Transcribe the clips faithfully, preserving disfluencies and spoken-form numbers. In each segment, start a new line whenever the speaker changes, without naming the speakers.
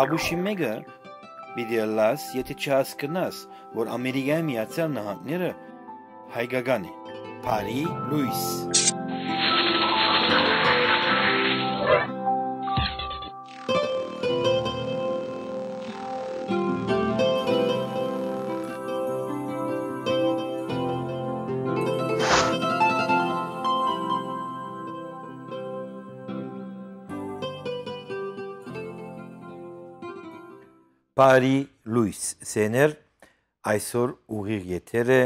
Աբուշի մեկը պիտի լաս, եթե չհասկնաս, որ Ամերիկայի Միացյալ Նահանգները հայկական է, Փարի Լուիս։ Փարի Լուիս սեներ այսօր ուղիղ եթերը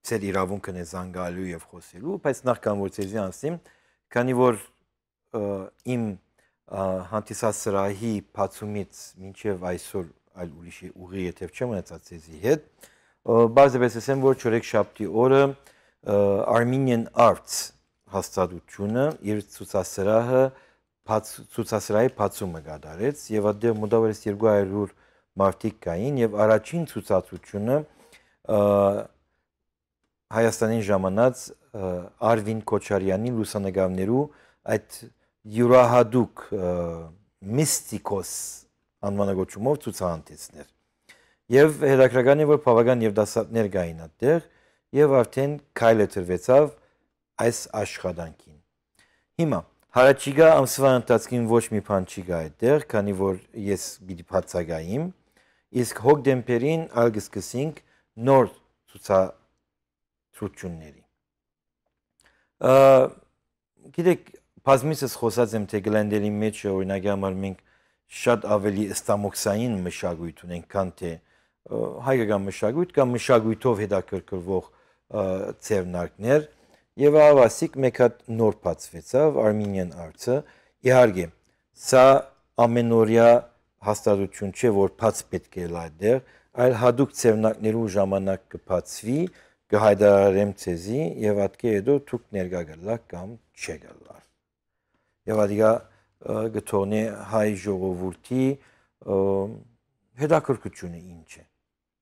ծեր իրավունքն է զանգալու եւ խոսելու, բայց նախքան որ ծեզի անցնեմ, քանի որ իմ հանդիսասրահի բացումից մինչեւ այսօր այլ ուրիշ ուղիղ եթեր չեմ ունեցած ծեզի հետ, բարձրապես ասեմ, որ չորեքշաբթի օրը Armenian Arts հաստատությունը իր ցուցասրահը ցուցասրահի բացումը կատարեց եւ այդտեղ մոտավորապես երկու հարյուր մարդիկ կային եւ առաջին ցուցադրությունը Հայաստանին ժամանած Արվին Քոչարյանի լուսանգարներու այդ յուրահատուկ միստիկոս անվանագոչումով ցուցահանդեսներ եւ հետաքրքրական է որ բավական եւ դասատներ կային այդտեղ եւ արդեն քայլը տրվեցավ այս աշխատանքին հիմա Հարաճիգա ամսվա ընթացքին ոչ մի բան չի գա այդտեղ, քանի որ ես պիտի բացակայեմ, իսկ հոկտեմբերին ալ կսկսենք նոր ցուցադրությունների։ Գիտեք, բազմիցս խոսած եմ, թե գլենդերի մեջ օրինակի համար մենք շատ ավելի ստամոքսային մշակույթ ունենք, քան թե հայկական մշակույթ կամ մշակույթով հետաքրքրվող ձեռնարկներ Եվ ավասիկ մեկ հատ նոր բացվեցավ Armenian Arts-ը, իհարկե, սա ամենօրյա հաստատություն չէ, որ բաց պետք է այդտեղ, այլ հատուկ ձեռնարկներու ժամանակ կբացվի, կհայտարարեմ ցեզի եւ ատկե հետո դուք ներկա գալաք կամ չգալար։ Եվ ադիգա գտոնե հայ ժողովրդի հետաքրքրությունը ինչ է։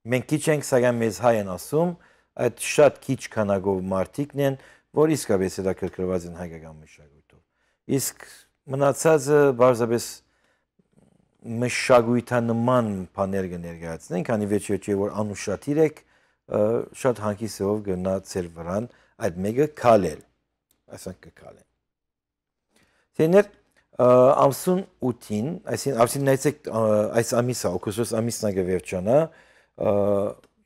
Մենք քիչ ենք սակայն մեզ հայ են ասում, այդ շատ քիչ քանակով մարդիկն են որ իսկապես հետաքրքրված են հայկական մշակույթով։ Իսկ մնացածը բարձրապես մշակույթանման բաներ կներկայացնեն, քանի վերջի որ անուշադիր եք շատ հանգիսով գնա ծեր վրան այդ մեկը քալել, ասենք կքալեն։ Թեներ ամսուն ութին, այսին արդեն նայեցեք այս ամիսը, օգոստոս ամիսն է վերջանա,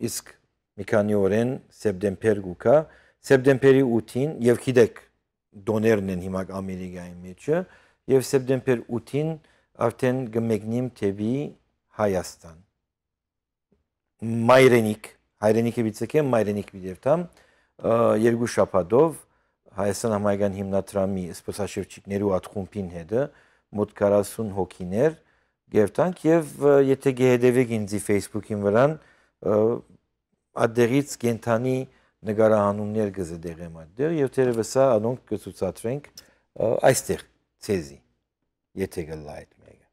իսկ մի քանի օրեն սեպտեմբեր գուկա Սեպտեմբերի ութին եւ գիտեք դոներն են հիմա Ամերիկայի մեջը եւ սեպտեմբեր ութին արդեն կմեկնիմ թեւի Հայաստան Մայրենիք հայրենիքը բիցեկեմ մայրենիք բիդերտամ երկու շաբաթով Հայաստան համայնքային հիմնադրամի սպասաշրջիկներու աթխումբին հետը մոտ քառասուն հոգիներ գերտանք եւ եթե գեհդեվեք ինձի Facebook-ին վրան ադերից կենթանի նկարահանումներ կզդեղեմ այդտեղ եւ թերևս սա անոնք կցուցադրենք այստեղ ցեզի եթե գլա այդ մեկը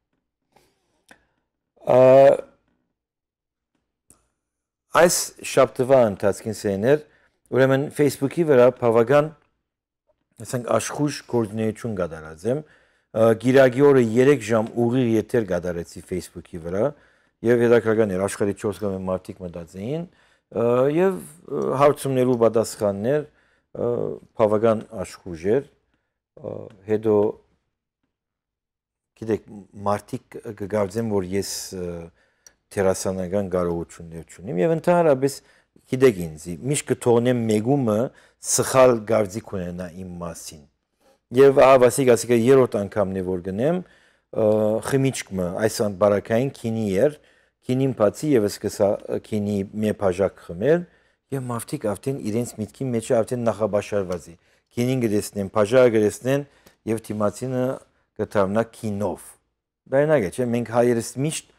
այս շաբթվա ընթացքին սեներ ուրեմն Facebook-ի վրա բավական ասենք աշխուժ կոորդինացիոն կատարած եմ գիրագի օրը երեք ժամ ուղիղ եթեր կատարեցի Facebook-ի վրա եւ հետաքրքրական էր աշխարհի չորս կամ մարդիկ մտածեին եւ հարցումներու պատասխաններ բավական աշխուժ էր հետո գիտեք մարդիկ կգարձեն որ ես տերասանական կարողություններ ունեմ եւ ընդհանրապես գիտեք ինձ միշտ կթողնեմ մեգումը սխալ գարձիկ ունենա իմ մասին եւ ավասիկ ասիկա երրորդ անգամն է որ գնեմ խմիչքը այս բարակային քինի էր Քինին բացի եւս կսա քինի մի բաժակ խմել եւ մարդիկ արդեն իրենց միտքի մեջ արդեն նախաբաշարված է քինին գտեսնեն բաժակը գտեսնեն եւ թիմացինը կդառնա քինով բանակ է չէ մենք հայերս միշտ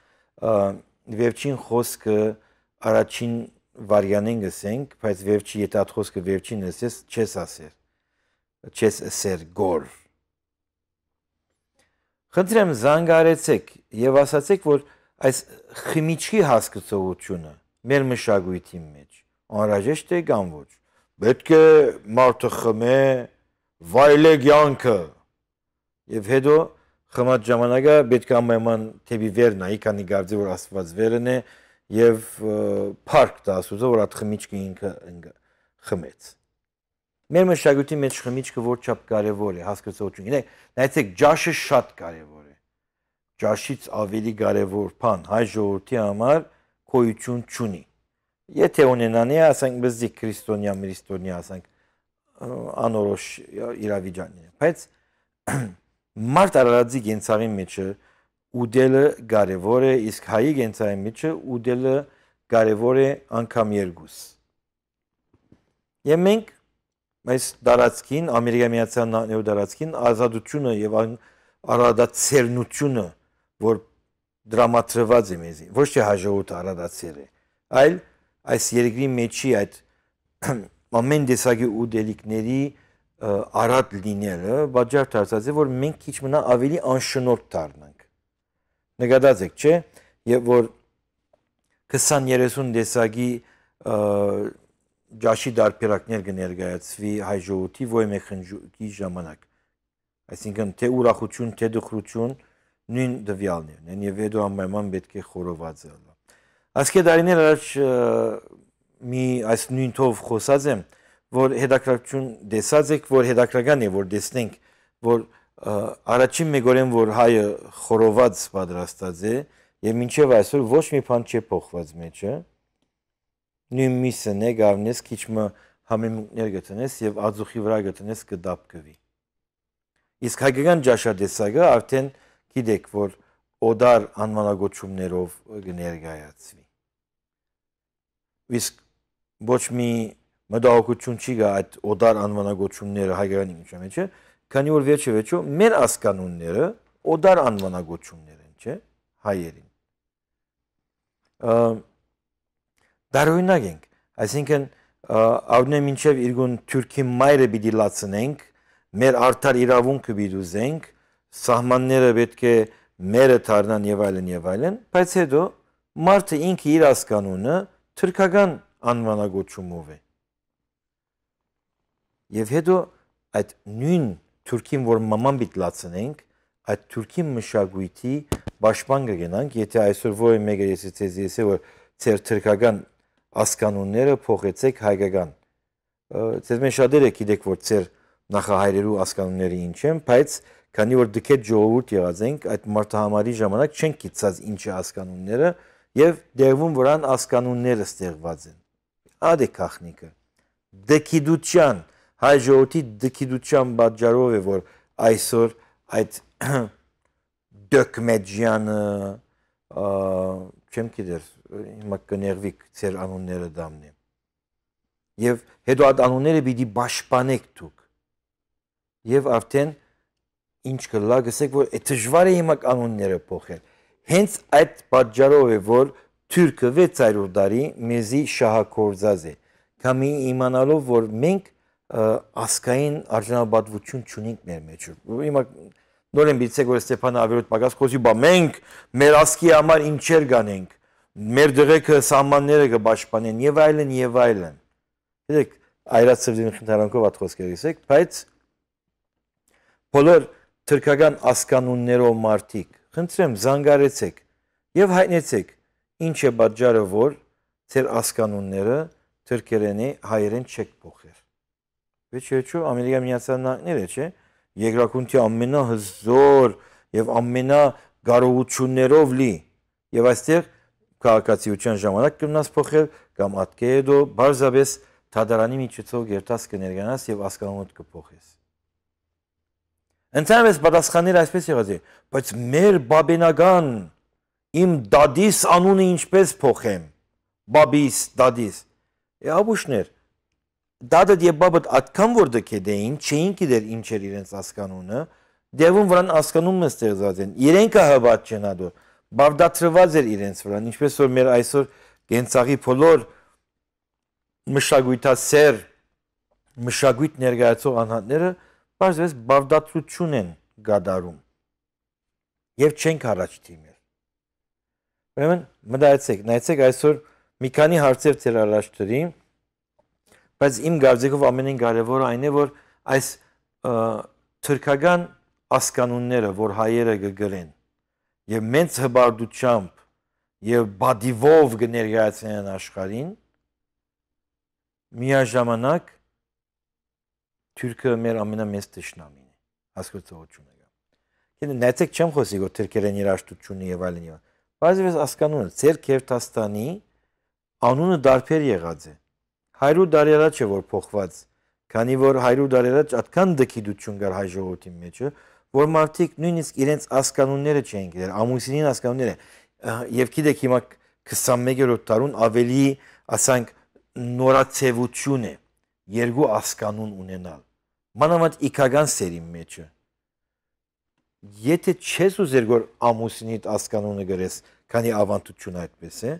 վերջին խոսքը առաջին վարյանեն գսենք բայց վերջի եթե այդ խոսքը վերջին ասես չես ասեր չես ասեր գոր խնդրեմ զանգարեցեք եւ ասացեք որ այս խմիչքի հասկացողությունը մեր մշակույթի մեջ անհրաժեշտ է կամ ոչ պետք է մարդը խմե վայելե կյանքը եւ հետո խմած ժամանակը պետք է ամենայն թեպի վեր նայի քանի գարձի որ աստված վերն է եւ парք դա ասում որ այդ խմիչքը ինքը խմեց մեր մշակույթի մեջ խմիչքը որչափ կարեւոր է հասկացողություն գիտեք նայեցեք ջաշը շատ կարեւոր է ջաշից ավելի կարեւոր բան հայ ժողովրդի համար գոյություն չունի եթե ունենանի ասենք բզի քրիստոնյա մրիստոնյա ասենք անորոշ իրավիճակներ բայց մարդ արարածի գենցաղի մեջը ուդելը կարևոր է իսկ հայի գենցաղի մեջը ուդելը կարևոր է անգամ երկուս եւ մենք այս դարածքին ամերիկայի միացյալ նահանգների դարածքին ազատությունը եւ արարածերնությունը որ դրամատրված է մեզի ոչ թե հաջողութ արարածեր է այլ այս երկրի մեջի այդ ամեն տեսակի ուդելիկների արատ լինելը բաժար դարձած է որ մենք քիչ մնա ավելի անշնորհ դառնանք նկատած եք չէ եւ որ քսան երեսուն տեսակի ջաշի դարբերակներ կներկայացվի հայ ժողովրդի ոյ մեկ խնջուկի ժամանակ այսինքն թե ուրախություն թե դխրություն նույն դվյալներն են եւ հետո ամենայն պետք է խորոված լինի Ասկե դարիներ առաջ մի այս նույն թով խոսած եմ, որ հետաքրքրություն դեսած եք, որ հետաքրքրական է, որ դեսնենք, որ առաջին մեգորեն, որ հայը խորոված պատրաստած է, եւ մինչեւ այսօր ոչ մի բան չի փոխված մեջը, նույն միսն է գավնես քիչ մը համեմունքներ գտնես եւ ածուխի վրա գտնես կդապկվի։ Իսկ հայկական ջաշադեսագը արդեն գիտեք, որ օդար անվանագոչումներով կներկայացվի։ Իսկ ոչ մի մտահոգություն չի գա այդ օդար անվանագոչումները հայկական ինքնիշխանության մեջ, քանի որ վերջը վերջո մեր ասկանունները օդար անվանագոչումներ են, չէ՞, հայերին։ Դարօրինակ ենք, այսինքն առնեմ մինչև իրգուն թուրքի մայրը պիտի լացնենք, մեր արդար իրավունքը պիտի ուզենք, սահմանները պետք է մերը դառնան եւ այլն եւ այլն, բայց հետո մարդը ինքը իր ասկանունը թուրքական անվանագոչումով է։ Եվ հետո այդ նույն թուրքին, որ մաման պիտի լացնենք, այդ թուրքի մշակույթի պաշտպան կգնանք, եթե այսօր ոչ մեկը ես ցեզ ասե որ ձեր թուրքական ասկանունները փոխեցեք հայկական։ Ձեզ մեջ շատերը գիտեք, որ ձեր նախահայրերու ասկանունները ինչ են, բայց քանի որ դքետ ժողովուրդ եղած ենք, այդ մարդահամարի ժամանակ չենք գիտած ինչ է ասկանունները եւ դերվում որան ասկանունները ստեղված են։ Ադե քախնիկը։ Դքիդության, հայ ժողովրդի դքիդության պատճառով է, որ այսօր այդ դոկմեջյանը, չեմ գիտեր, հիմա կներվիկ ձեր անունները դամնեմ։ Եվ հետո այդ անունները պիտի պաշտպանեք դուք։ Եվ արդեն ինչ կլա գսեք, որ դժվար է հիմա կանոնները փոխել։ Հենց այդ պատճառով է, որ թուրքը վեցերորդ դարի մեզի շահագործած է։ Քամի իմանալով, որ մենք ասկային արժանապատվություն չունենք մեր մեջ։ Հիմա նորեն բիցեք, որ Ստեփանը ավելոտ պակաս խոսի, բա մենք մեր ասկի համար ինչեր կանենք, մեր դղեկը սահմանները կպաշտպանեն եւ այլն եւ այլն։ Գիտեք, այրացրդին խնդրանքով այդ խոսքերը ասեք, բայց բոլոր թուրքական ասկանուններով մարդիկ, խնդրեմ զանգարեցեք եւ հայտնեցեք ինչ է պատճառը, որ ձեր ասկանունները թուրքերենի հայերեն չեք փոխել։ Վերջիչո Ամերիկայի Միացյալ Նահանգները, չէ՞, երկրակունքի ամենահզոր եւ ամենագարողություններով լի եւ այստեղ քաղաքացիության ժամանակ կնաս փոխել կամ ատկեդո բարձաբես թադարանի միջոցով գերտաս կներկանաս եւ ասկանունդ կփոխես։ Ընդհանրապես պատասխանները այսպես եղած է, բայց մեր բաբենական իմ դադիս անունը ինչպես փոխեմ, բաբիս, դադիս։ Աբուշներ, դադը եւ բաբդ այդքան որ դքեդեին, չէին գիտեր ինչ էր իրենց ասկանունը, դերվում վրան ասկանունը ստեղծած են։ Իրենքը հավատ չեն ադոր, բավդատրված էր իրենց վրան, ինչպես որ մեր այսօր գենցաղի բոլոր մշակույթասեր, մշակույթ ներկայացող անհատները բարձրապես բավդատրություն են գադարում եւ չենք առաջ թիմել։ Ուրեմն մտածեք, նայեցեք այսօր մի քանի հարցեր ձեր առաջ դրի, բայց իմ կարծիքով ամենին կարևորը այն է, որ այս թուրքական ասկանունները, որ հայերը կգրեն եւ մեծ հբարդությամբ եւ բադիվով կներկայացնեն աշխարհին, միաժամանակ թուրքը մեր ամենամեծ թշնամին է, հասկացողությունը կա։ Քանի նայեցեք չեմ խոսի, որ թուրքերեն երաշտությունը եւ այլն եւ բազովս ասկանունը ձեր Քերթաստանի անունը դարբեր եղած է։ Հարյուր տարի առաջ է որ փոխված, քանի որ հարյուր տարի առաջ այդքան դքիդություն կար հայ ժողովրդի մեջ, որ մարդիկ նույնիսկ իրենց ասկանունները չէին գիտեր, ամուսինին ասկանունները եւ գիտեք հիմա քսանմեկերորդ դարուն ավելի, ասենք, նորացեվություն է երկու ասկանուն ունենալ։ Մանավանդ իքական սերի մեջը։ Եթե չես ուզեր որ ամուսինիդ ասկանունը գրես, քանի ավանդություն այդպես է,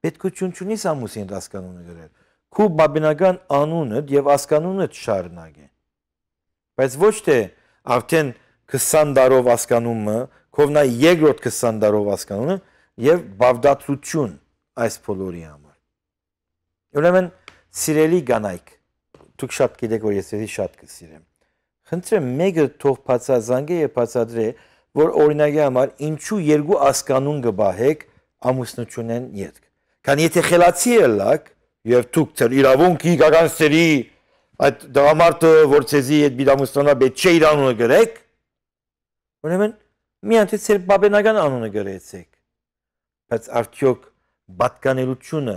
պետքություն չունիս ամուսինիդ ասկանունը գրել։ Քու բաբենական անունդ եւ ասկանունդ շարունակ է։ Բայց ոչ թե արդեն քսան տարով ասկանումը, քովնա երկրորդ քսան տարով ասկանունը եւ բավդատրություն այս բոլորի համար։ Ուրեմն սիրելի կանայք, դուք շատ գիտեք որ ես էլի շատ կսիրեմ։ Խնդրեմ մեկը թող բացազանգե եւ բացադրե, որ օրինակի համար ինչու երկու ասկանուն կբահեք ամուսնությունեն յետք։ Քան եթե խելացի ելակ եւ դուք ձեր իրավունքի գագանսերի այդ դրամարտը որ ցեզի այդ բիդամուստնա պետք չէ իր անունը գրեք, ուրեմն միայն թե ձեր բաբենական անունը գրեցեք։ Բայց արդյոք պատկանելությունը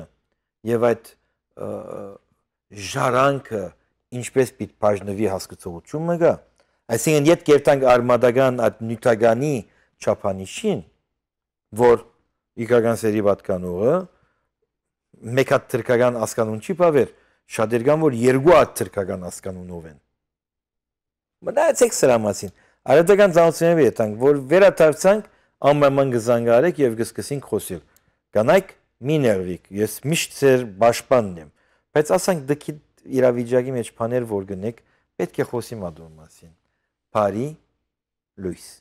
եւ այդ ժարանքը ինչպես պիտի բաժնվի հասկացողությունը կա։ Այսինքն յետ կերտանք արմադական այդ նյութականի չափանիշին, որ իգական սերի պատկանողը մեկ հատ թրքական ասկանուն չի բավեր, շատեր կան, որ երկու հատ թրքական ասկանունով են։ Մնացեք սրա մասին։ Արետական ծանոթությունների հետ ենք, որ վերադարձանք ամեն գզանգարեք եւ կսկսենք խոսել։ Կանայք մի ներվիկ, ես միշտ ձեր պաշտպանն եմ, բայց ասենք դքի իրավիճակի մեջ բաներ որ գնեք, պետք է խոսի մադու մասին։ Բարի լույս։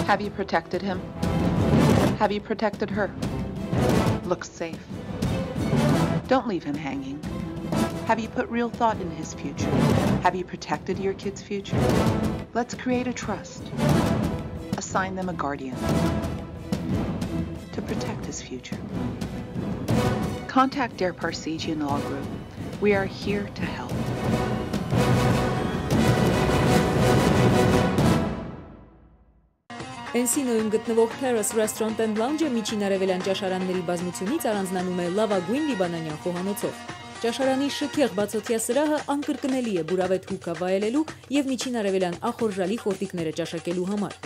Have you protected him? Have you protected her? Look safe. Don't leave him hanging. Have you put real thought in his future? Have you protected your kid's future? Let's create a trust. Assign them a guardian to protect his future. Contact Dare Parsegian Law Group. We are here to help.
Էնսինոյում գտնվող Terrace Restaurant and Lounge-ը միջին արևելյան ճաշարանների բազմությունից առանձնանում է լավագույն լիբանանյան խոհանոցով։ Ճաշարանի շքեղ բացօթյա սրահը անկրկնելի է բուրավետ հուկա վայելելու եւ միջին արևելյան ախորժալի խորտիկները ճաշակելու համար։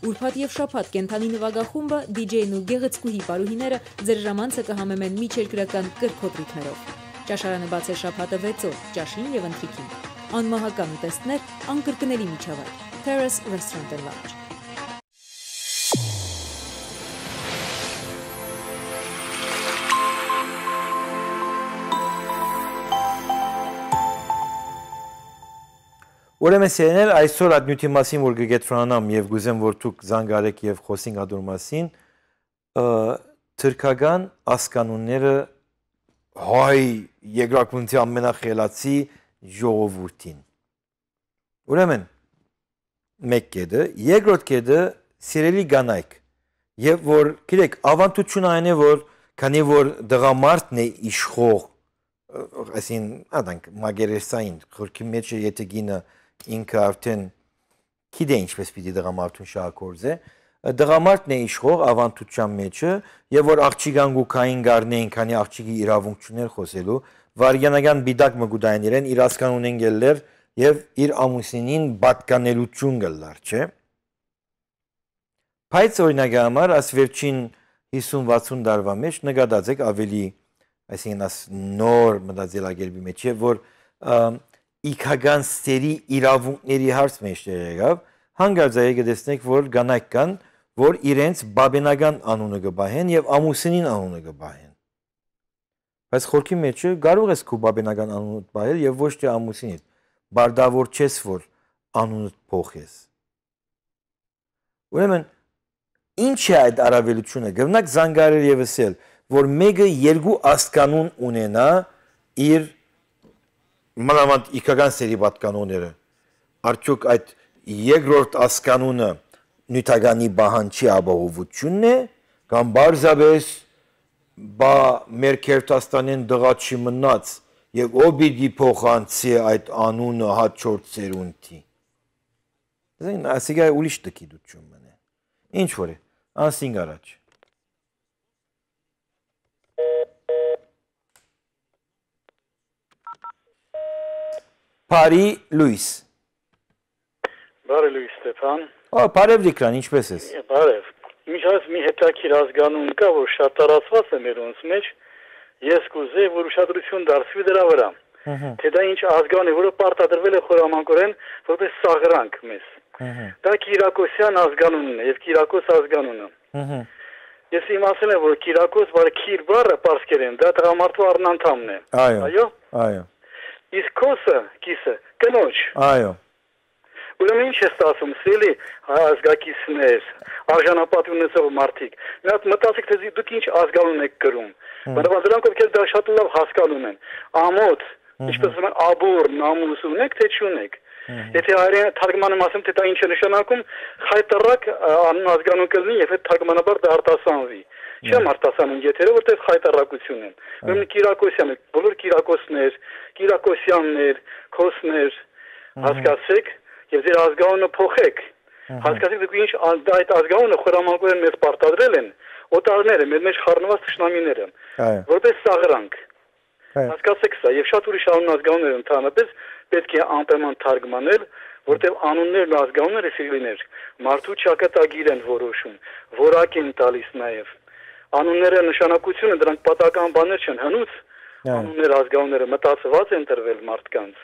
Ուրբաթ եւ շաբաթ կենթանի նվագախումբը, դիջեյն ու գեղեցկուհի պարուհիները ձեր ժամանցը կհամեմեն միջերկրական կրկոտրիկներով։ Ճաշարանը բաց է շաբաթը վեց օր, ճաշին եւ ընթրիքին։ Անմահական ուտեստներ, անկրկնելի միջավայր։ Terrace Restaurant and Lounge։
Ուրեմն սերներ այսօր այդ նյութի մասին որ կգետրոնանամ եւ գուզեմ որ դուք զանգարեք եւ խոսենք ադոր մասին թուրքական ասկանունները հայ երկրակունքի ամենախելացի ժողովուրդին ուրեմն մեկ կետը երկրորդ կետը սիրելի կանայք եւ որ գիտեք ավանդությունը այն է որ քանի որ դղամարդն է իշխող այսին ադանք մագերեսային խորքի մեջ եթե գինը ինքը արդեն գիտե ինչպես պիտի դղամարդուն շահագործե դղամարդն է իշխող ավանդության մեջը եւ որ աղջիկան գուքային գարնեին քանի աղջիկի իրավունք չուներ խոսելու վարյանական բիդակ մգուդային իրեն իր ասկանունեն գելներ եւ իր ամուսինին պատկանելություն գլար չէ բայց օրինակի համար աս վերջին հիսուն վաթսուն տարվա մեջ նկատացեք ավելի այսինքն աս նոր մտածելակերպի մեջ է որ իքական սերի իրավունքների հարց մեջ եղավ հանգարց է գտեսնեք որ կանայք կան որ իրենց բաբենական անունը կբահեն եւ ամուսինին անունը կբահեն Բայց խորքի մեջը կարող ես քո բաբենական անունդ բայել եւ ոչ թե ամուսինիդ։ Բարդավոր չես որ անունդ փոխես։ Ուրեմն ինչ է այդ առավելությունը։ Գտնակ զանգարել եւս էլ, որ մեկը երկու աստկանուն ունենա իր մանավանդ իքական սերի պատկանոնները։ Արդյոք այդ երկրորդ աստկանունը նյութականի բահանջի ապահովությունն է կամ բարձաբես բա մեր Քերթաստանեն դղաչի մնաց եւ ով պիտի փոխանցի այդ անունը հաջորդ սերունդի։ Դեն ասիգա ուրիշ տկիդություն մնա։ Ինչ որ է, անսինգ առաջ։ Բարի Լուիս։
Բարի Լուիս Ստեփան։
Ո, բարև Դիկրան, ինչպես ես։
Բարև։ Միջած մի հետաքրքիր ազգանուն կա, որ շատ տարածված է մերոնց մեջ, ես կուզեի, որ ուշադրություն դարձվի դրա վրա։ Թե դա ինչ ազգան է, որը պարտադրվել է խորամանկորեն որպես սաղրանք մեզ։ Դա Կիրակոսյան ազգանունն է եւ Կիրակոս ազգանունը։ Ես իմացել եմ, որ Կիրակոս բառը քիր բառը պարսկերեն, դա տղամարդու առնանդամն է։
Այո։
Այո։
Այո։
Իսկ կոսը, կիսը, կնոջ։
Այո։
Ուրեմն ինչ է ստացվում, սելի ազգակիցներ, արժանապատ ունեցող մարդիկ։ Մի հատ մտածեք, թե դուք ինչ ազգանուն եք կրում։ Բնական դրանք ովքեր դա շատ լավ հասկանում են։ Ամոթ, ինչպես ասում են, աբուր, նամուս ունեք, թե չունեք։ Եթե հայերեն թարգմանում ասեմ, թե դա ինչ է նշանակում, խայտարակ անուն ազգանուն կլինի, եւ այդ թարգմանաբար դա արտասանվի։ Չեմ արտասանում եթերը, որտեղ խայտարակություն են։ Ուրեմն Կիրակոսյանը, բոլոր Կիրակոսներ, Կիրակոսյաններ, Քոսներ, հասկացեք, եւ ձեր ազգանունը փոխեք։ Հասկացեք, դուք ինչ այդ ազգանունը խորամանկորեն մեզ պարտադրել են, օտարները, մեր մեջ խառնված թշնամիները, որպես սաղրանք։ Հասկացեք սա, եւ շատ ուրիշ անուն ազգանուններ ընդհանրապես պետք է անպայման թարգմանել, որտեղ անուններն ու ազգանունները սիրելիներ, մարդու ճակատագիր են որոշում, որակ են տալիս նաեւ։ Անունները նշանակությունը դրանք պատական բաներ չեն, հնուց անուններ ազգանունները մտածված են տրվել մարդկանց,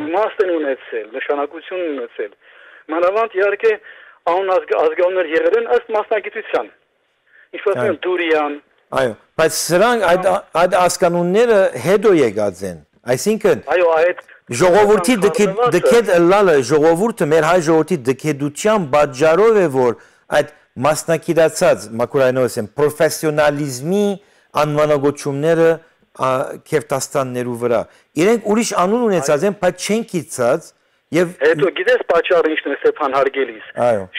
իմաստ են ունեցել, նշանակություն ունեցել։ Մանավանդ իհարկե անուն ազգանուններ եղել են ըստ մասնագիտության։ Ինչպես են Դուրյան։
Այո, բայց սրանք այդ այդ ազգանունները հետո եկած են։ Այսինքն
այո, այդ
ժողովրդի դքեդ լալը ժողովուրդը մեր հայ ժողովրդի դքեդության բաժարով է որ այդ մասնակցած մակուրայնոսեն պրոֆեսիոնալիզմի անվանագոչումները Քերթաստաններու վրա իրենք ուրիշ անուն ունեցած են բայց չեն գիտած եւ
հետո գիտես պատճառը ինչն է Ստեփան հարգելիս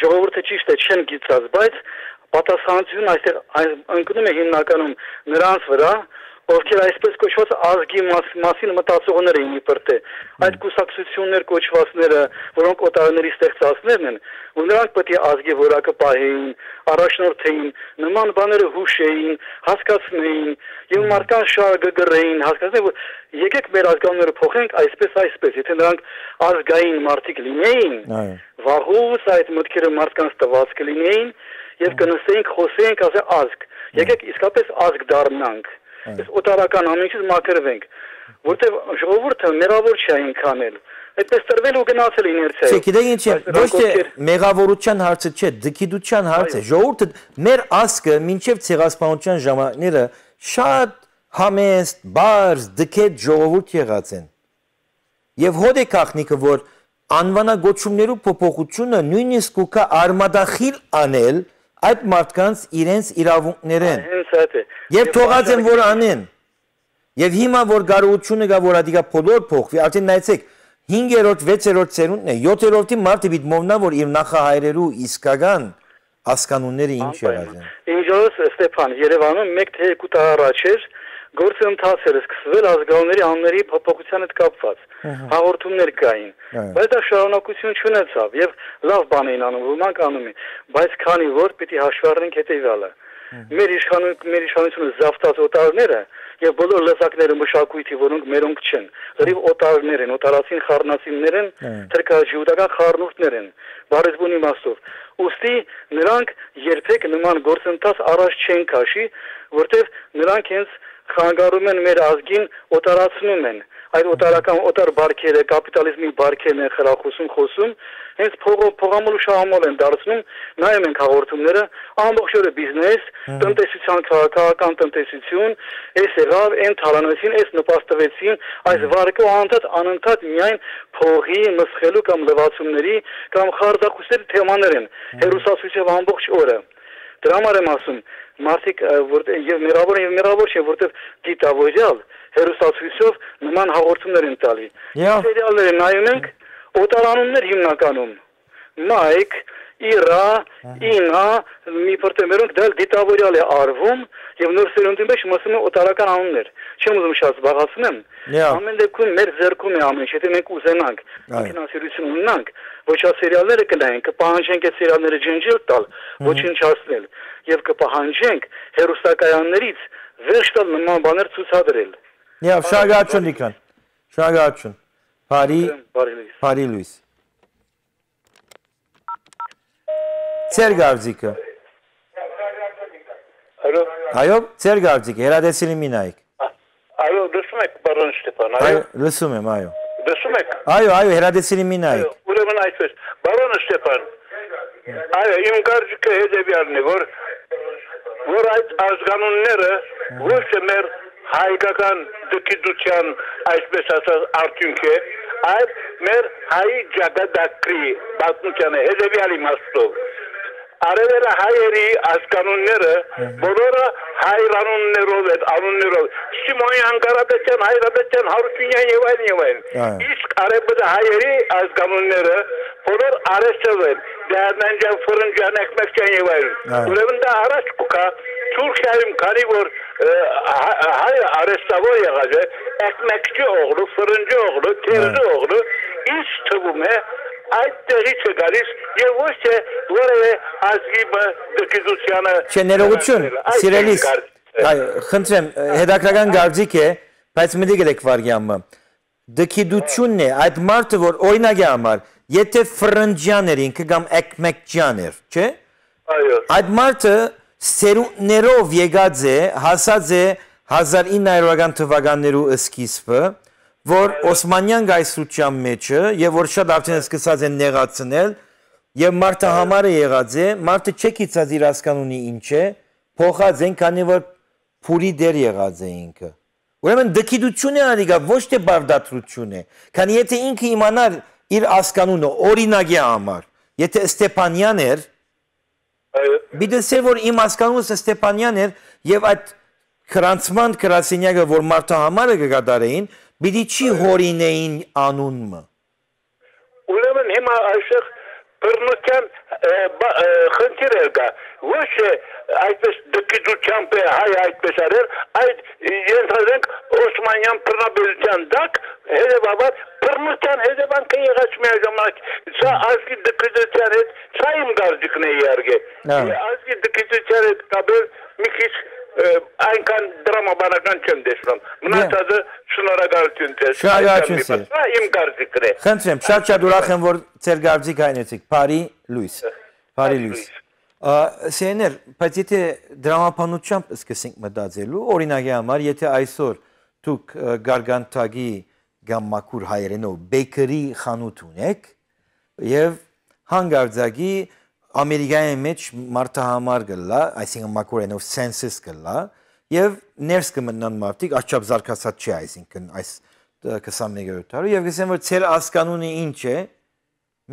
ժողովուրդը ճիշտ է չեն գիտած բայց պատասխանատվությունը այստեղ ընկնում է հիմնականում նրանց վրա ովքեր այսպես կոչված ազգի մասին մտածողներ էին իբր թե այդ կուսակցություններ կոչվածները որոնք օտարների ստեղծածներն են ու նրանք պետք է ազգի որակը պահեին առաջնորդեին նման բաները հուշեին հասկացնեին եւ մարդկանց շարը գրեին հասկացնեն որ եկեք մեր ազգանունները փոխենք այսպես այսպես եթե նրանք ազգային մարդիկ լինեին վաղուց այդ մտքերը մարդկանց տված կլինեին եւ կնստեինք խոսեինք ասե ազգ եկեք իսկապես ազգ դառնանք Ես օտարական ամենից մաքրվենք, որտեղ ժողովուրդը մեղավոր չի այնքան էլ։ Այդպես տրվել ու գնացել իներցիա։
Գիտեք ինչ է, ոչ թե մեղավորության հարցը չէ, դքիդության հարցը։ Ժողովուրդը մեր ազգը մինչև ցեղասպանության ժամանակները շատ համեստ, բարձ, դքեդ ժողովուրդ եղած են։ Եվ հոդ է քաղնիկը, որ անվանագոչումներու փոփոխությունը նույնիսկ ուկա արմադախիլ անել այդ մարդկանց իրենց իրավունքներեն եւ թողած են որ անեն եւ հիմա որ գարողությունը գա որ ադիգա փոլոր փոխվի արդեն նայեցեք հինգերորդ վեցերորդ ծերունդն է յոթերորդի մարդը պիտի մովնա որ իր նախահայրերու իսկական հասկանունները ինչ եղած են
Ինչպես Ստեփան Երևանում մեկ թե երկու տար առաջ էր գործը ընթացել սկսվել ազգանունների անունների փոփոխության հետ կապված հաղորդումներ կային բայց դա շարունակություն չունեցավ եւ լավ բան էին անում ոմանք անում են բայց քանի որ պիտի հաշվի առնենք հետեւյալը մեր իշխանություն մեր իշխանությունը զավթած օտարները եւ բոլոր լեզակները մշակույթի որոնք մերոնք չեն լրիվ օտարներ են օտարացին խառնացիններ են թրքաժիուտական խառնուրդներ են բարեզբուն իմաստով ուստի նրանք երբեք նման գործընթաց առաջ չեն քաշի որտեվ նրանք հենց խանգարում են մեր ազգին օտարացնում են այդ օտարական օտար բարքերը, կապիտալիզմի բարքերն են խրախուսում, խոսում, հենց փողամոլ ու շահամոլ են դարձնում, նայում ենք հաղորդումները, ամբողջ օրը բիզնես, տնտեսության քաղաքական տնտեսություն, այս եղավ, այն թալանեցին, այս նպաստվեցին, այս վարկը անընդհատ անընդհատ միայն փողի, մսխելու կամ լվացումների կամ խարդախուսերի թեմաներ են, հերոսացույցով ամբողջ օրը։ Դրա համար եմ ասում, մարդիկ եւ մերավոր եւ մերավոր չէ, որտեվ դիտավորյալ հերոսացույցով նման հաղորդումներ են տալի։ Սերիալները նայում ենք, օտարանումներ հիմնականում։ Մայք, Իրա, Ինա, մի պրտեմերոնք դալ դիտավորյալ է արվում եւ նոր սերունդի մեջ մսում է օտարական անուններ։ Չեմ ուզում շատ զբաղացնեմ։ Ամեն դեպքում մեր ձեռքում է ամեն ինչ, եթե մենք ուզենանք, ֆինանսիրություն ունենանք, ոչ ա սերիալները կնայենք, կպահանջենք այդ սերիալները ջնջել տալ, ոչնչացնել եւ կպահանջենք հերոստակայաններից վերջ տալ նման բաներ ցուցադրել։
Եվ շնորհակալություն Նիկան։ Շնորհակալություն։ Բարի բարի լույս։ Ձեր գարձիկը։
Այո։
Այո, ձեր գարձիկը, հերադեսիլի մինայք։
Այո, լսում եք, պարոն Ստեփան, այո։
Այո, լսում եմ, այո։
Լսում եք։
Այո, այո, հերադեսիլի մինայք։
Ուրեմն այսպես, պարոն Ստեփան։ Այո, իմ գարձիկը հետևյալն է, որ որ այդ ազգանունները ոչ թե մեր հայկական դկիդության այսպես ասած արդյունք է, այլ մեր հայ ջագադակրի պատմության է հետևյալ իմաստով։ Արևելը հայերի ազգանունները բոլորը հայրանուններով են, անուններով։ Սիմոնյան Կարապետյան, Հայրապետյան, Հարությունյան եւ այլն եւ այլն։ Իսկ արևելը հայերի ազգանունները բոլոր արեստով են։ Դեռնանջան, ֆրնջան, եկմեկջան եւ այլն։ Ուրեմն դա առաջ կա Թուրքիայում քանի որ հայ արեստավոր եղած է, եկմեկջի օղլու, ֆրնջի օղլու, թերձի օղլու, ինչ թվում է այդ տեղից է գալիս եւ ոչ թե որևէ ազգի դկիզությանը
Չէ, ներողություն, սիրելիս, այո, խնդրեմ, հետաքրական գարձիկ է, բայց մտի գրեք վարյամը։ Դկիդությունն է այդ մարդը, որ օրինակի համար, եթե ֆրնջյան էր ինքը կամ եկմեկջյան էր, չէ՞։
Այո։
Այդ մարդը սերունդներով եկած է, հասած է հազար ինը հարյուրական թվականներու սկիզբը, որ Օսմանյան գայսրության մեջը եւ որ շատ արդեն սկսած են նեղացնել եւ մարդը համար է եղած է, մարդը չեկիցած իր հասկանունի ինչ է, փոխած են, քանի որ փուրի դեր եղած է ինքը։ Ուրեմն դկիդություն է արիգա, ոչ թե բարդատրություն է, քանի եթե ինքը իմանար իր հասկանունը օրինակի համար, եթե Ստեփանյան էր, բիդեսե որ իմ հասկանունս Ստեփանյան էր եւ այդ քրանցման քրասենյակը որ մարդը համար է կգադարեին Բիդի չի հորինեին անունը։
Ուրեմն հիմա այսեղ բռնության խնդիր է գա։ Ոչ է այդպես դկիդությամբ է հայ այդպես արել, այդ ենթադրենք Օսմանյան բռնաբերության դակ հետևաբար բռնության հետևանքը եղած միաժամանակ սա ազգի դկիդության հետ սա իմ գարձիկն է իհարկե։ Ազգի դկիդության հետ կապել մի քիչ այնքան դրամաբանական չեմ տեսնում։ Մնացածը շնորհակալություն ձեզ։
Շնորհակալություն ձեզ։
Սա իմ գարձիկն է։
Խնդրեմ, շատ-շատ ուրախ եմ, որ ձեր գարձիկը այնեցիք։ Բարի լույս։ Բարի լույս։ Սեներ, բայց եթե դրամապանությամբ սկսենք մտածելու, օրինակի համար, եթե այսօր դուք Գարգանտագի կամ Մաքուր հայերենով բեյքերի խանութ ունեք եւ հանգարձակի Ամերիկայի մեջ մարդահամար գլա, այսինքն մակուրենով սենսս գլա, եւ ներս կմտնան մարդիկ, աչափ զարգացած չի, այսինքն այս քսանմեկ տարի, եւ գսեմ որ ցեր ասկանունի ինչ է,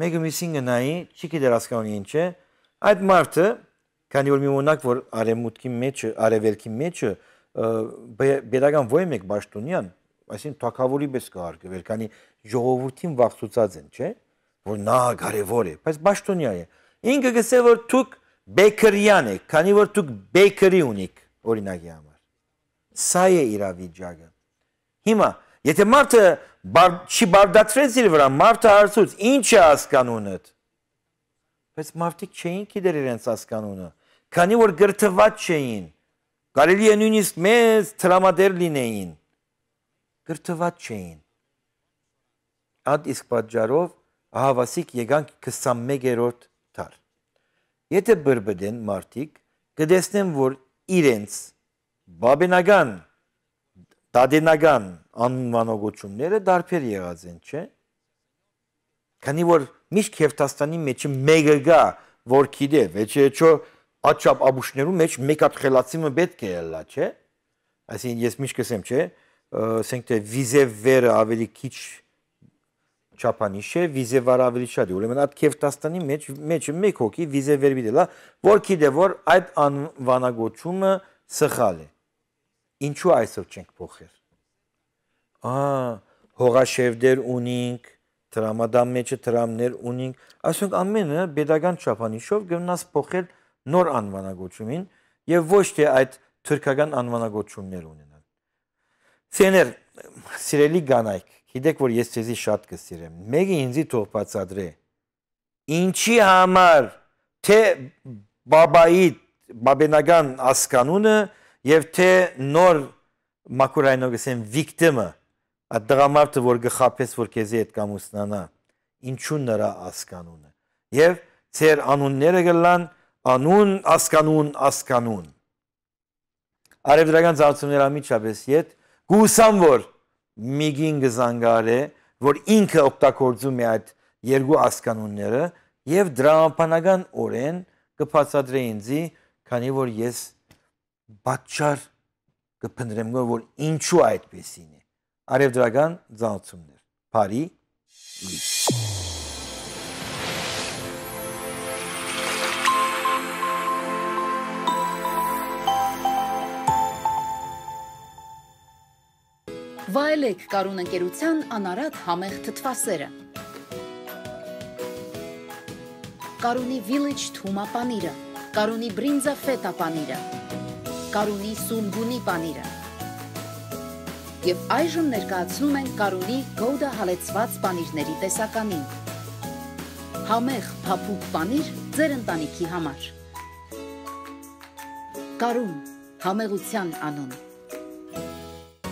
մեկը միսին գնայի, չի գիտեր ասկանունի ինչ է, այդ մարդը, քանի որ մի ունակ որ արևմուտքի մեջ, արևելքի մեջ բերական ոյ մեկ Բաշտոնյան, այսինքն թակավորի պես կհարգվել, քանի ժողովրդին վախցուցած են, չէ՞, որ նա կարևոր է, բայց Բաշտոնյա է Ինքը գսե որ դուք բեյքերյան եք, քանի որ դուք բեյքերի ունիք, օրինակի համար։ Սա է իրավիճակը։ Հիմա, եթե մարդը չի բարդացրեց իր վրա, մարդը հարցուց, ինչ է հասկանունդ։ Բայց մարդիկ չէին գիտեր իրենց հասկանունը, քանի որ գրթված չէին։ Կարելի է նույնիսկ մեծ տրամադեր լինեին։ Գրթված չէին։ Այդ իսկ պատճառով ահավասիկ եկանք քսանմեկերորդ Թար։ Եթե բրբդեն մարդիկ, կդեսնեն, որ իրենց բաբենական դադենական անվանողությունները դարբեր եղած են, չէ։ Քանի որ միշտ Քևթաստանի մեջ մեկը գա, որ գիտե, վեճե չո աչապ աբուշներու մեջ մեկ հատ խելացիմը պետք է լա, չէ։ Այսինքն ես միշտ կսեմ, չէ, ասենք թե վիզևերը ավելի քիչ չափանիշ է, վիզևարը ավելի շատ է։ Ուրեմն այդ Քևթաստանի մեջ մեջը մեկ հոգի վիզևեր դիտելա, որ գիտե, որ այդ անվանագոչումը սխալ է։ Ինչու այսօր չենք փոխել։ Ահա, հողաշերտեր ունենք, տրամադամ մեջը տրամներ ունենք, այսինքն ամենը pedagogan չափանիշով գնաց փոխել նոր անվանագոչումին եւ ոչ թե այդ թուրքական անվանագոչումներ ունենալ։ Սեներ, սիրելի կանայք, գիտեք որ ես ձեզի շատ կսիրեմ։ Մեկը ինձի թող բացատրե։ Ինչի համար թե բաբայի բաբենական ասկանունը եւ թե նոր մակուրայնով գսեն վիկտիմը այդ դրամարտը որ գխապես որ քեզի հետ կամուսնանա ինչու նրա ասկանունը եւ ծեր անունները գլան անուն ասկանուն ասկանուն արևդրական ծառայությունների ամիջապես իդ գուսամ որ միգին գզանգարե որ ինքը օգտագործում է այդ երկու ասկանունները եւ դրամապանական օրեն կբացատրե ինձի քանի որ ես բաճար կփնտրեմ որ ինչու այդպեսին է արևդրական ծառայություններ Փարի լույս
Վայելեք Կարուն ընկերության անարատ համեղ թթվասերը Կարունի Village թումա պանիրը Կարունի բրինձա ֆետա պանիրը Կարունի սուլգունի պանիրը Եվ այժմ ներկայացնում են Կարունի գոուդա հալեցված պանիրների տեսականին Համեղ փափուկ պանիր ձեր ընտանիքի համար Կարուն համեղության անուն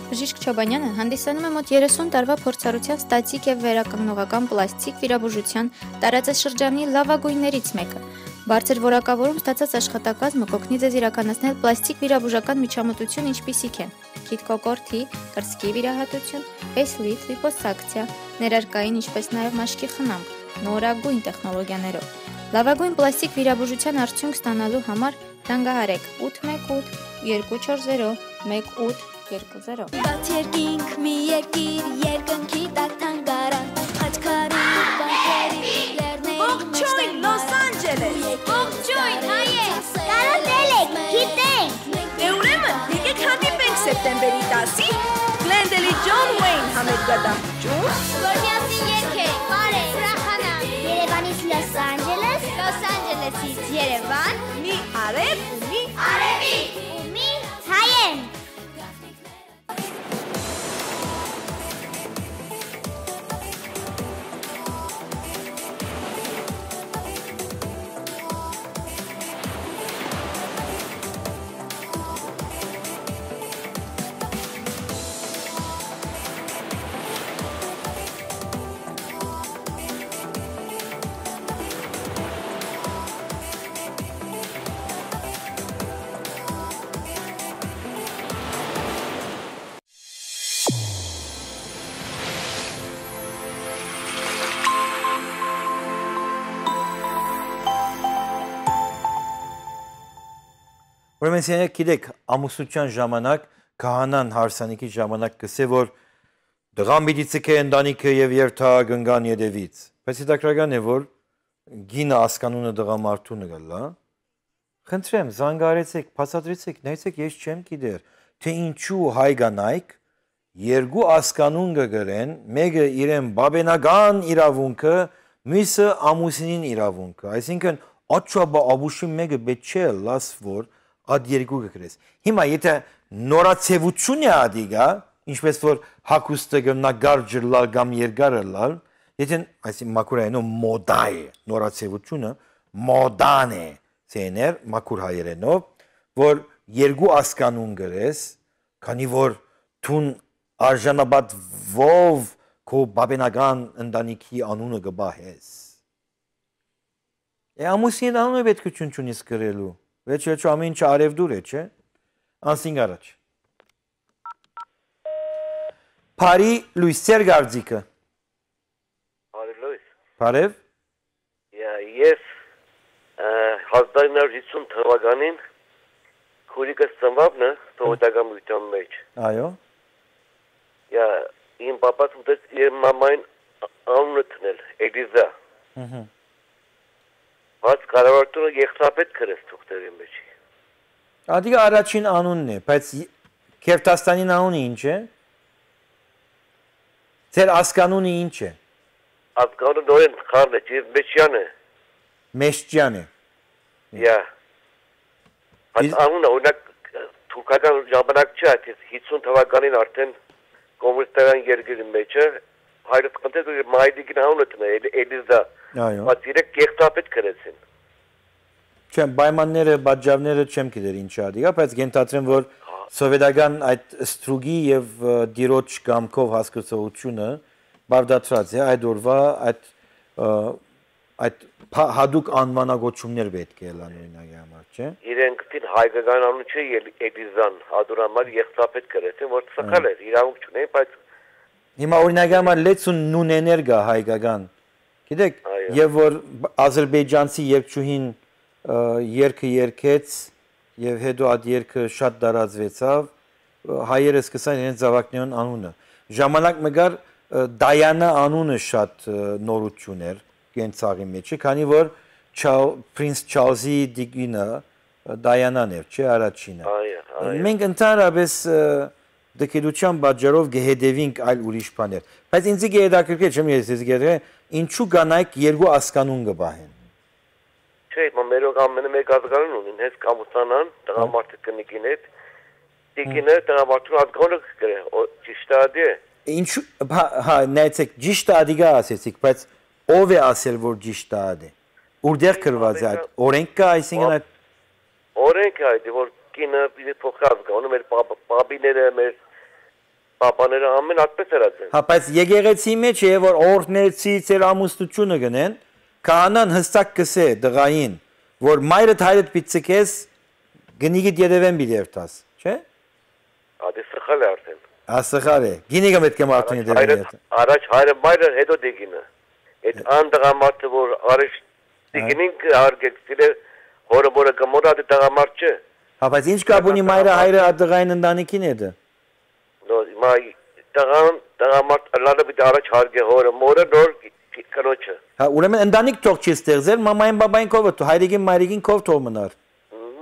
Բժիշկ Չոբանյանը հանդիսանում է մոտ երեսուն տարվա փորձառությամբ ստատիկ եւ վերականգնողական պլաստիկ վիրաբուժության տարածաշրջանի լավագույններից մեկը։ Բարձր որակավորում ստացած աշխատակազմը կօգնի ձեզ իրականացնել պլաստիկ վիրաբուժական միջամտություն, ինչպիսիք են քիթկոկորթի, կրծքի վիրահատություն, ֆեյսլիֆթ, լիպոսակցիա, ներարկային, ինչպես նաեւ մաշկի խնամք, նորագույն տեխնոլոգիաներով։ Լավագույն պլաստիկ վիրաբուժության արդյունք ստանալու համար զանգահարեք ութ մեկ ութ երկու չորս զիրո մեկ ութ երկու զիրո
Բաց երկինք մի երկիր երկնքի տակ թանգարան Խաչքարի բանքերի լեռների
Ողջույն Լոս Անջելես
Ողջույն հայեր Կարոտել եք, գիտենք
Դե ուրեմն եկեք հանդիպենք սեպտեմբերի տասին Գլենդելի Ջոն Ուեյն համերգադահուճում
Որ միասին երկենք, բարև, սրախանանք Երևանից Լոս Անջելես Լոս Անջելեսից Երևան
Մի արև ու մի
Արևի ու մի հայեն
Ուրեմն ցերեկ գիտեք ամուսնության ժամանակ քահանան հարսանիքի ժամանակ կսե որ դղան պիտի ցկե ընտանիքը եւ երթա գնգան յետևից բայց հետաքրական է որ գինը ասկանունը դղամարդունը գալա խնդրեմ զանգարեցեք բացատրեցեք նայեցեք ես չեմ գիտեր թե ինչու հայ կանայք երկու ասկանուն կգրեն մեկը իրեն բաբենական իրավունքը մյուսը ամուսինին իրավունքը այսինքն աչաբա աբուշի մեկը պետք չէ լաս որ Ad երկու գկրես։ Հիմա եթե նորացևություն է ադիգա, ինչպես որ հակուստը գնա գարջլալ կամ երկարլալ, եթե այսին մակուրայինով մոդա է, նորացևությունը մոդան է, ցեներ մակուր հայերենով, որ երկու ասկանուն գրես, քանի որ թուն արժանաբադ ով քո բաբենական ընտանիքի անունը գբահես։ Է ամուսին անունը պետք է չունի սկրելու Veç veç ամեն ինչ արևդուր է, չէ։ Անսին առաջ։ Փարի լույս ծեր գարձիկը։
Բարի լույս։
Բարև։
Ես հազար իննսուն հիսուն թվականին քուրիկս ծնվաբն է թողոտական մույթան մեջ։
Այո։
Իմ պապաս ուտեց իր մամային անունը տնել, Էլիզա։ Բայց կառավարությունը եղծապետ կրեց թուղթերի մեջ։
Ադիգա առաջին անունն է, բայց Քերթաստանին անունը ինչ է։ Ձեր ասկանունը ինչ է։
Ասկանունը նորեն խառն է, Մեջյան է։
Մեջյան է։
Յա։ Բայց անունը օրինակ թուրքական ժամանակ չէ, հիսուն թվականին արդեն կոմունիստական երկրի մեջ է, հայրս խնդրեց ու մայրիկին անունը տնել, Էլիզա։
Այո։
Բայց իրենք եղծապետ կրեցին։
Չեմ, պայմանները, բաժավները չեմ գիտեր ինչ ադիգա, բայց գենթադրեմ, որ սովետական այդ ստրուգի եւ դիրոջ կամքով հասկացողությունը բարդացած է այդ օրվա այդ այդ հadouk անվանագոչումներ պետք է լան օրինակի համար, չէ։
Իրենք դին հայկական անուն չէ Էլիզան, հadurամար եղծապետ կրեցին, որ սխալ էր, իրավունք չունեն, բայց
հիմա օրինակի համար լեցուն նունեներ գա հայկական։ Գիտեք, եւ որ ադրբեջանցի երկչուհին երկը երկեց եւ հետո այդ երկը շատ դարածվեցավ, հայերը սկսան իրենց զավակներուն անունը։ Ժամանակ մգար Դայանա անունը շատ նորություն էր կենցաղի մեջ, քանի որ Prince Charles-ի դիգինը Դայանան էր, չէ, առաջինը։ Մենք ընդհանրապես դկերության պատճառով գեհդեվինք այլ ուրիշ բաներ։ Բայց ինձ գեհդակրկե չեմ ես ես գեհդե, ինչու կանայք երկու ասկանուն կբահեն։
Չէ, մերոք ամենը մեկ ազգանուն ունին, հենց կամուսանան, տղամարդը կնիկին հետ, դիկինը տղամարդուն ազգանունը կգրե, ճիշտ ադի է։
Ինչու, հա, նայեցեք, ճիշտ ադիգա ասեցիք, բայց ով է ասել, որ ճիշտ ադի։ Ուրդեղ գրված է այդ, օրենք կա, այսինքն այդ։
Օրենք է այդ, որ կինը պիտի փոխի ազգանունը, մեր պապիները, մեր պապաները ամեն այդպես էր ասել։
Հա, բայց եկեղեցի մեջ է, որ օրհնեցի ծեր ամուսնությունը գնեն, Քահանան հստակ կսե դղային, որ մայրդ հայրդ պիցկես գնիգիդ յետևեն պիտի երթաս, չէ։
Ադի սխալ է արդեն։
Ա սխալ է։ Գինիգը պետք է մարդուն յետևեն երթա։
Առաջ հայրը մայրը հետո դիգինը։ Այդ ան դղամարդը որ առաջ դիգինին արգեցիլ է հորը որը կմորա դի դղամարդ չէ։
Հա, բայց ինչ կապ ունի մայրը հայրը դղային ընտանիքին է դա։
Նո, մայ դղան դղամարդ լալը պիտի առաջ հարգե հորը մորը նոր կնոջը։
Հա, ուրեմն ընտանիք թող չի ստեղծել, մամային բաբային կով է, հայրիկին մայրիկին կով թող մնար։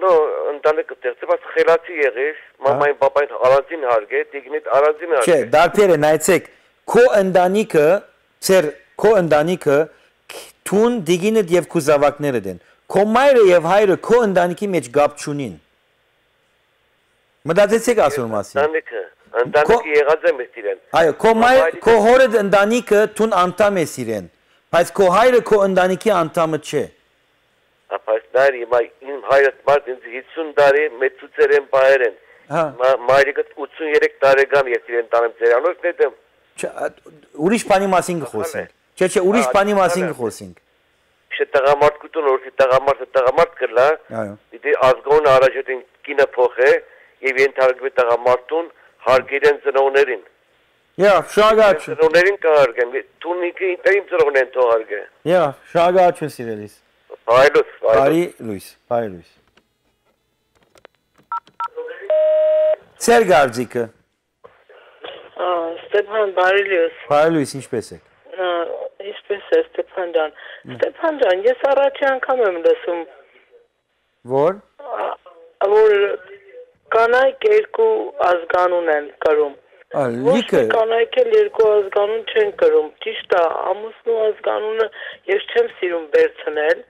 Նո, ընտանիքը ստեղծել, բայց խելացի եղիր, մամային բաբային առանձին հարգե, դիգնիդ առանձին հարգե։
Չէ, դարբեր է, նայեցեք, քո ընտանիքը, ծեր քո ընտանիքը թուն դիգինդ եւ քո զավակներդ են։ Քո մայրը եւ հայրը քո ընտանիքի մեջ գապ չունին։ Մտածեցիք ասում մասին։
Ընտանիքը, ընտանիքը եղած է մեզ իրեն։
Այո, քո մայր, քո հորդ ընտանիքը թուն անդամ է իրեն, բայց քո հայրը քո ընտանիքի անդամը չէ։
Բայց նայր հիմա իմ հայրս մարդ ինձ հիսուն տարի մեծուծեր են պահեր են։ Մայրիկս ութսուններեք տարեկան ես իրեն տանեմ ծերանոց նետեմ։
Ուրիշ բանի մասին կխոսենք։ Չէ, չէ, ուրիշ բանի մասին կխոսենք։
Չէ, տղամարդկություն օրսի տղամարդը տղամարդ կլա։
Այո։
Դիտի ազգոն առաջին կինը փոխե եւ ենթարկվի տղամարդուն հարգերեն ծնողներին։
Յա, շագաչ։
Ծնողներին կհարգեն։ Տունիկը ինտերիմ ծնողներն թողարկե։
Յա, շագաչուն սիրելիս։
Բայլուս,
բարի լույս, բարի լույս։ Ծեր գարձիկը։
Ստեփան, բարի լույս։
Բարի լույս, ինչպես եք։
Ինչպես է Ստեփան ջան։ Ստեփան ջան, ես առաջի անգամ եմ լսում։
Որ։
Որ կանայք երկու ազգանուն են կրում։
Լիքը
կանայք էլ երկու ազգանուն չեն կրում։ Ճիշտ է, ամուսնու ազգանունը ես չեմ սիրում վերցնել։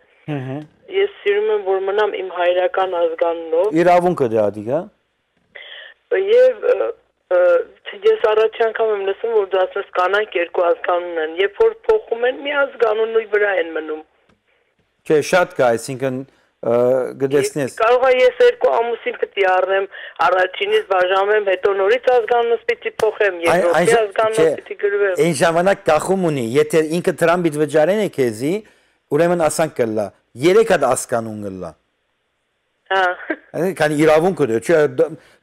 Ես սիրում եմ որ մնամ իմ հայրական ազգանունով։
Իրավունքը դա դիգա։
Եվ ես առաջի անգամ եմ լսում որ դա ասես կանայք երկու ազգանուն են, երբ որ փոխում են մի ազգանունի վրա են մնում։
Չէ, շատ կա, այսինքն գտեսնես։
Կարող է ես երկու ամուսին պիտի առնեմ, առաջինից բաժանեմ, հետո նորից ազգանունս պիտի փոխեմ, երկրորդ ազգանունս պիտի գրվեմ։
Այն ժամանակ կախում ունի, եթե ինքը տրամբիտ վճարեն է քեզի, ուրեմն ասանք կլա, երեք հատ ազգանուն կլա։
Հա։
Քանի իրավունքը դե, չէ,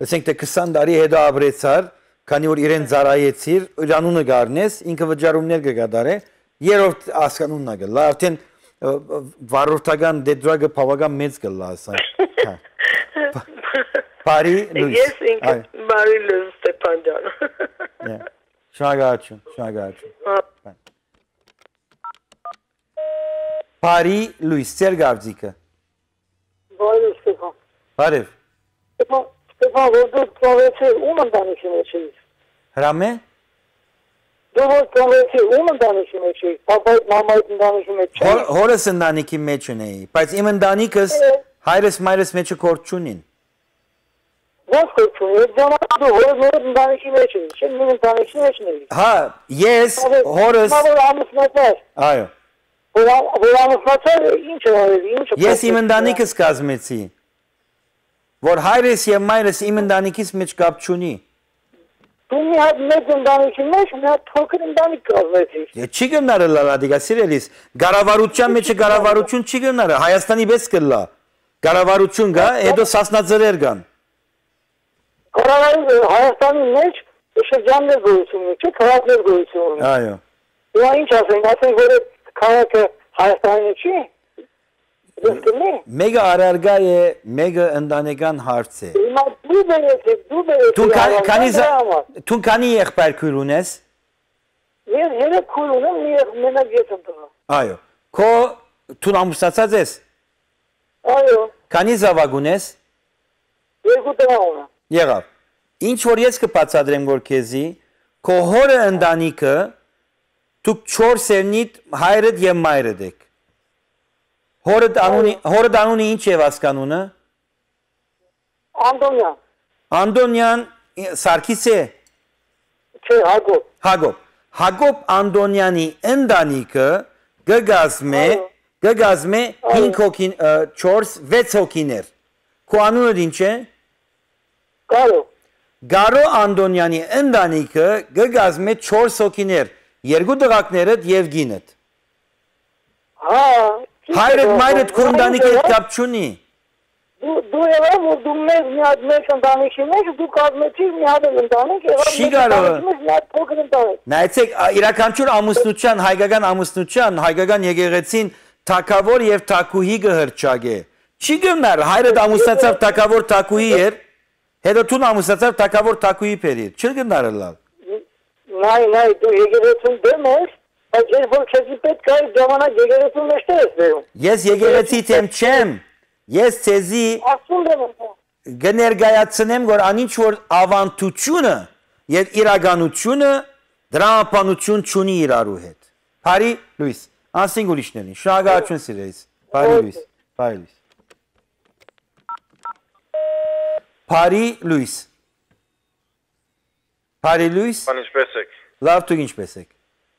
ասենք թե քսան տարի հետո ապրեցար, քանի որ իրեն ծառայեցիր, իր անունը գառնես, ինքը վճարումներ կգադարե, երրորդ ասկանունն է գլա, արդեն վարորդական դեդրագը բավական մեծ կլա, ասա։ Բարի լույս։
Ես ինքը բարի լույս Ստեփան ջան։
Շնորհակալություն, շնորհակալություն։ Բարի լույս, ծեր գարձիկը։
Բարի Ստեփան։
Բարև։
Ստեփան, Ստեփան, որ դու ծավեցի ում ընտանիքի մեջ ես։
Հրամե։
Դու որ ծավեցի ում ընտանիքի մեջ ես, պապայի, մամայի ընտանիքի մեջ ես։
Հորս ընտանիքի մեջ ունեի, բայց իմ ընտանիքս հայրս մայրս մեջը կորդ չունին։
Ո՞նց կորդ չունի, դու հորս մոր ընտանիքի մեջ ես, չէ՞ նույն ընտանիքի մեջ ես։
Հա, ես հորս
Մամայ ամուսնացած։
Այո։
Որ ամուսնացած ինչ է արել, ինչ է։
Ես իմ ընտանիքս կազմեցի, որ հայրս եւ մայրս իմ ընտանիքից մեջ կապ չունի։
Դու մի հատ մեծ ընտանիքի մեջ մի հատ փոքր ընտանիք կազմեցիր։
Չի գնարը լալադիգա սիրելիս, գարավարության մեջը գարավարություն չի գնարը, Հայաստանի պես կլա։ Գարավարություն գա, հետո սասնաձրեր կան։
Կառավարի Հայաստանի մեջ շրջաններ գոյություն ունի, չէ՞ քաղաքներ գոյություն ունի։
Այո։
Ու ինչ ասենք, ասենք որ քաղաքը Հայաստանի չի։
Մեկը արարգա է, մեկը ընտանեկան հարց է։
Հիմա դու բերեցիք, դու բերեցիք։
Դու քանի եղբայր քույր ունես։
Ես երեք քույր ունեմ, մենակ ես եմ տղա։
Այո։ Քո դու ամուսնացած ես։
Այո։
Քանի զավակ ունես։
Երկու տղա ունեմ։
Եղավ։ Ինչ որ ես կբացատրեմ որ քեզի, քո հորը ընտանիքը դուք չորս երնիտ հայրդ եւ մայրդ եք։ Հորդ անունի, հորդ անունի ինչ է ասկանունը։
Անդոնյան։
Անդոնյան Սարգիս է։
Չէ, Հակոբ։
Հակոբ։ Հակոբ Անդոնյանի ընտանիքը գգազմե, գգազմե հինգ հոգին, չորս, վեց հոգիներ։ Քո անունը ինչ է։
Գարո։
Գարո Անդոնյանի ընտանիքը գգազմե չորս հոգիներ, երկու տղակներդ եւ գինդ։
Հա։
Հայրդ մայրդ քո ընտանիքի հետ կապ չունի։
Դու եղավ որ դու մեզ մի հատ մեծ ընտանիքի մեջ դու կազմեցիր մի հատ ընտանիք, եղավ
Չի կարող։
մի հատ փոքր ընտանիք։
Նայեցեք, իրականություն ամուսնության, հայկական ամուսնության, հայկական եկեղեցին թակավոր եւ թակուհի կհրճագե։ Չի գնար, հայրդ ամուսնացավ թակավոր թակուհի էր, հետո դու ամուսնացավ թակավոր թակուհի բերիր։ Չի գնար լավ։
Նայ, նայ, դու եկեղեցուն դեմ ես։ Բայց ես որ քեզի պետք է ժամանակ եկեղեցու մեջ ես վերում։
Ես եկեղեցի դեմ չեմ։ Ես ցեզի կներկայացնեմ, որ անինչ որ ավանդությունը եւ իրականությունը դրամապանություն չունի իրարու հետ։ Բարի լույս, անսինգ ուրիշներին, շնորհակալություն սիրելիս։ Բարի լույս, բարի լույս։ Բարի լույս։ Բարի լույս։
Բան ինչպես եք։
Լավ, դուք ինչպես եք։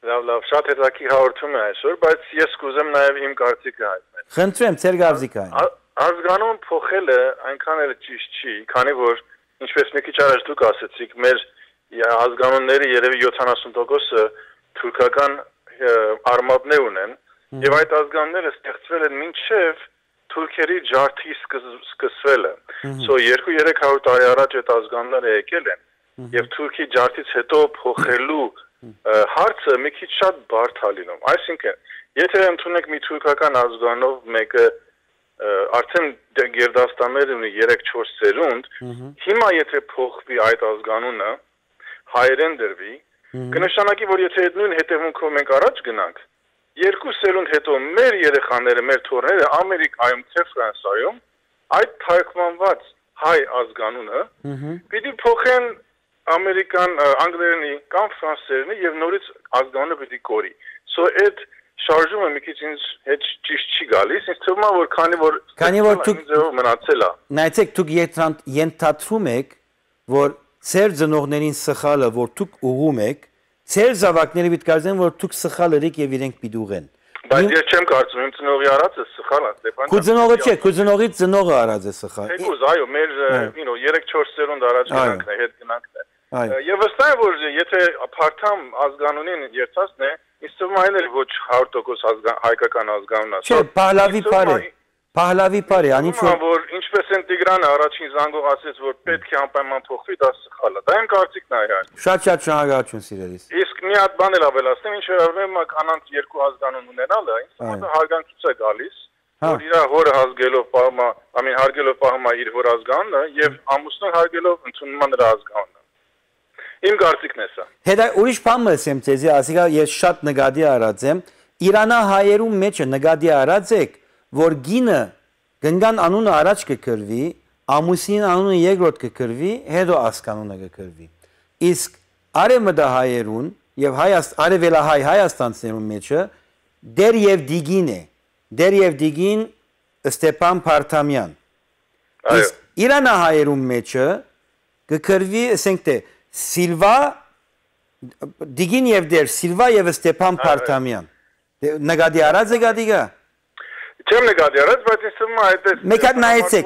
Լավ, լավ, շատ հետաքրքիր հաղորդում է այսօր, բայց ես կուզեմ նաև իմ կարծիքը հայտնել։
Խնդրեմ, ձեր կարծիքը հայտնել։
Ազգանուն փոխելը այնքան էլ ճիշտ չի, քանի որ ինչպես մի քիչ առաջ դուք ասացիք, մեր ազգանունները երևի յոթանասուն տոկոսը թուրքական արմատներ ունեն, եւ այդ ազգանունները ստեղծվել են մինչև թուրքերի ջարդի սկսվելը։ So երկու երեք հարյուր տարի առաջ այդ ազգանունները եկել են եւ թուրքի ջարդից հետո փոխելու հարցը մի քիչ շատ բարդ է լինում։ Այսինքն, եթե ընդունենք մի թուրքական ազգանով մեկը արդեն Գերդաստաններ ունի երեք չորս սերունդ, հիմա եթե փոխվի այդ ազգանունը, հայերեն դրվի, կնշանակի, որ եթե այդ նույն հետևունքով մենք առաջ գնանք, երկու սերունդ հետո մեր երեխաները, մեր թոռները Ամերիկայում, թե Ֆրանսիայում այդ թարգմանված հայ ազգանունը պիտի փոխեն ամերիկան, անգլերենի կամ ֆրանսերենի եւ նորից ազգանունը պիտի կորի։ So այդ շարժումը մի քիչ ինձ հետ ճիշտ չի գալիս, ինձ թվում է որ քանի որ
քանի որ դուք
մնացել է։
Նայեցեք, դուք ենթադրում եք, որ ծեր ծնողներին սխալը, որ դուք ուղում եք, ծեր զավակները պիտի կարծեն, որ դուք սխալ եք եւ իրենք պիտի ուղեն։
Բայց ես չեմ կարծում, իմ ծնողի արածը սխալ է, Ստեփան։
Քո ծնողը չէ, քո ծնողի ծնողը արած է սխալ։
Թեկուզ, այո, մեր, you know, երեք չորս սերունդ առաջ գնանքն է, հետ գնանքն է։ Եվ վստահ եմ, որ եթե փարթամ ազգանունին երթասն է, ինձ թվում է ոչ հարյուր տոկոս հայկական ազգանուն է։
Չէ, Փահլավի բարե։
Փահլավի բարի, անիչ որ
որ ինչպես են Տիգրանը առաջին զանգով ասեց, որ պետք է անպայման փոխվի, դա սխալ է։ Դա իմ կարծիքն է իհարկե։
Շատ-շատ շնորհակալություն սիրելիս։
Իսկ մի հատ բան էլ ավելացնեմ, ինչ վերաբերում է կանանց երկու ազգանուն ունենալը, ինձ թվում է հարգանքից է գալիս, որ իր հորը հազգելով պահում է, ամեն հարգելով պահում է իր հոր ազգանունը եւ ամուսնուն հարգելով ընդունում է նրա ազգանունը։ Իմ կարծիքն է սա։
Հետո ուրիշ բան ասեմ ցեզի, ասիկա ես շատ նկատի արած եմ, Իրանահայերու մեջը նկատի արած եք, որ գինը գնգան անունը առաջ կկրվի, ամուսին անունը երկրորդ կկրվի, հետո ասկանունը կկրվի։ Իսկ արևմտահայերուն եւ արևելահայ Հայաստանցիներուն մեջը դեր եւ դիգին է, դեր եւ դիգին Ստեփան Փարթամյան։ Իսկ իրանահայերուն մեջը կկրվի, ասենք թե Սիլվա դիգին եւ դեր Սիլվա եւ Ստեփան Փարթամյան։ Նկատի արած եք ադիգա։
Չեմ նկատի արած, բայց ինձ թվում է այդ է։
Մեկ հատ նայեցեք։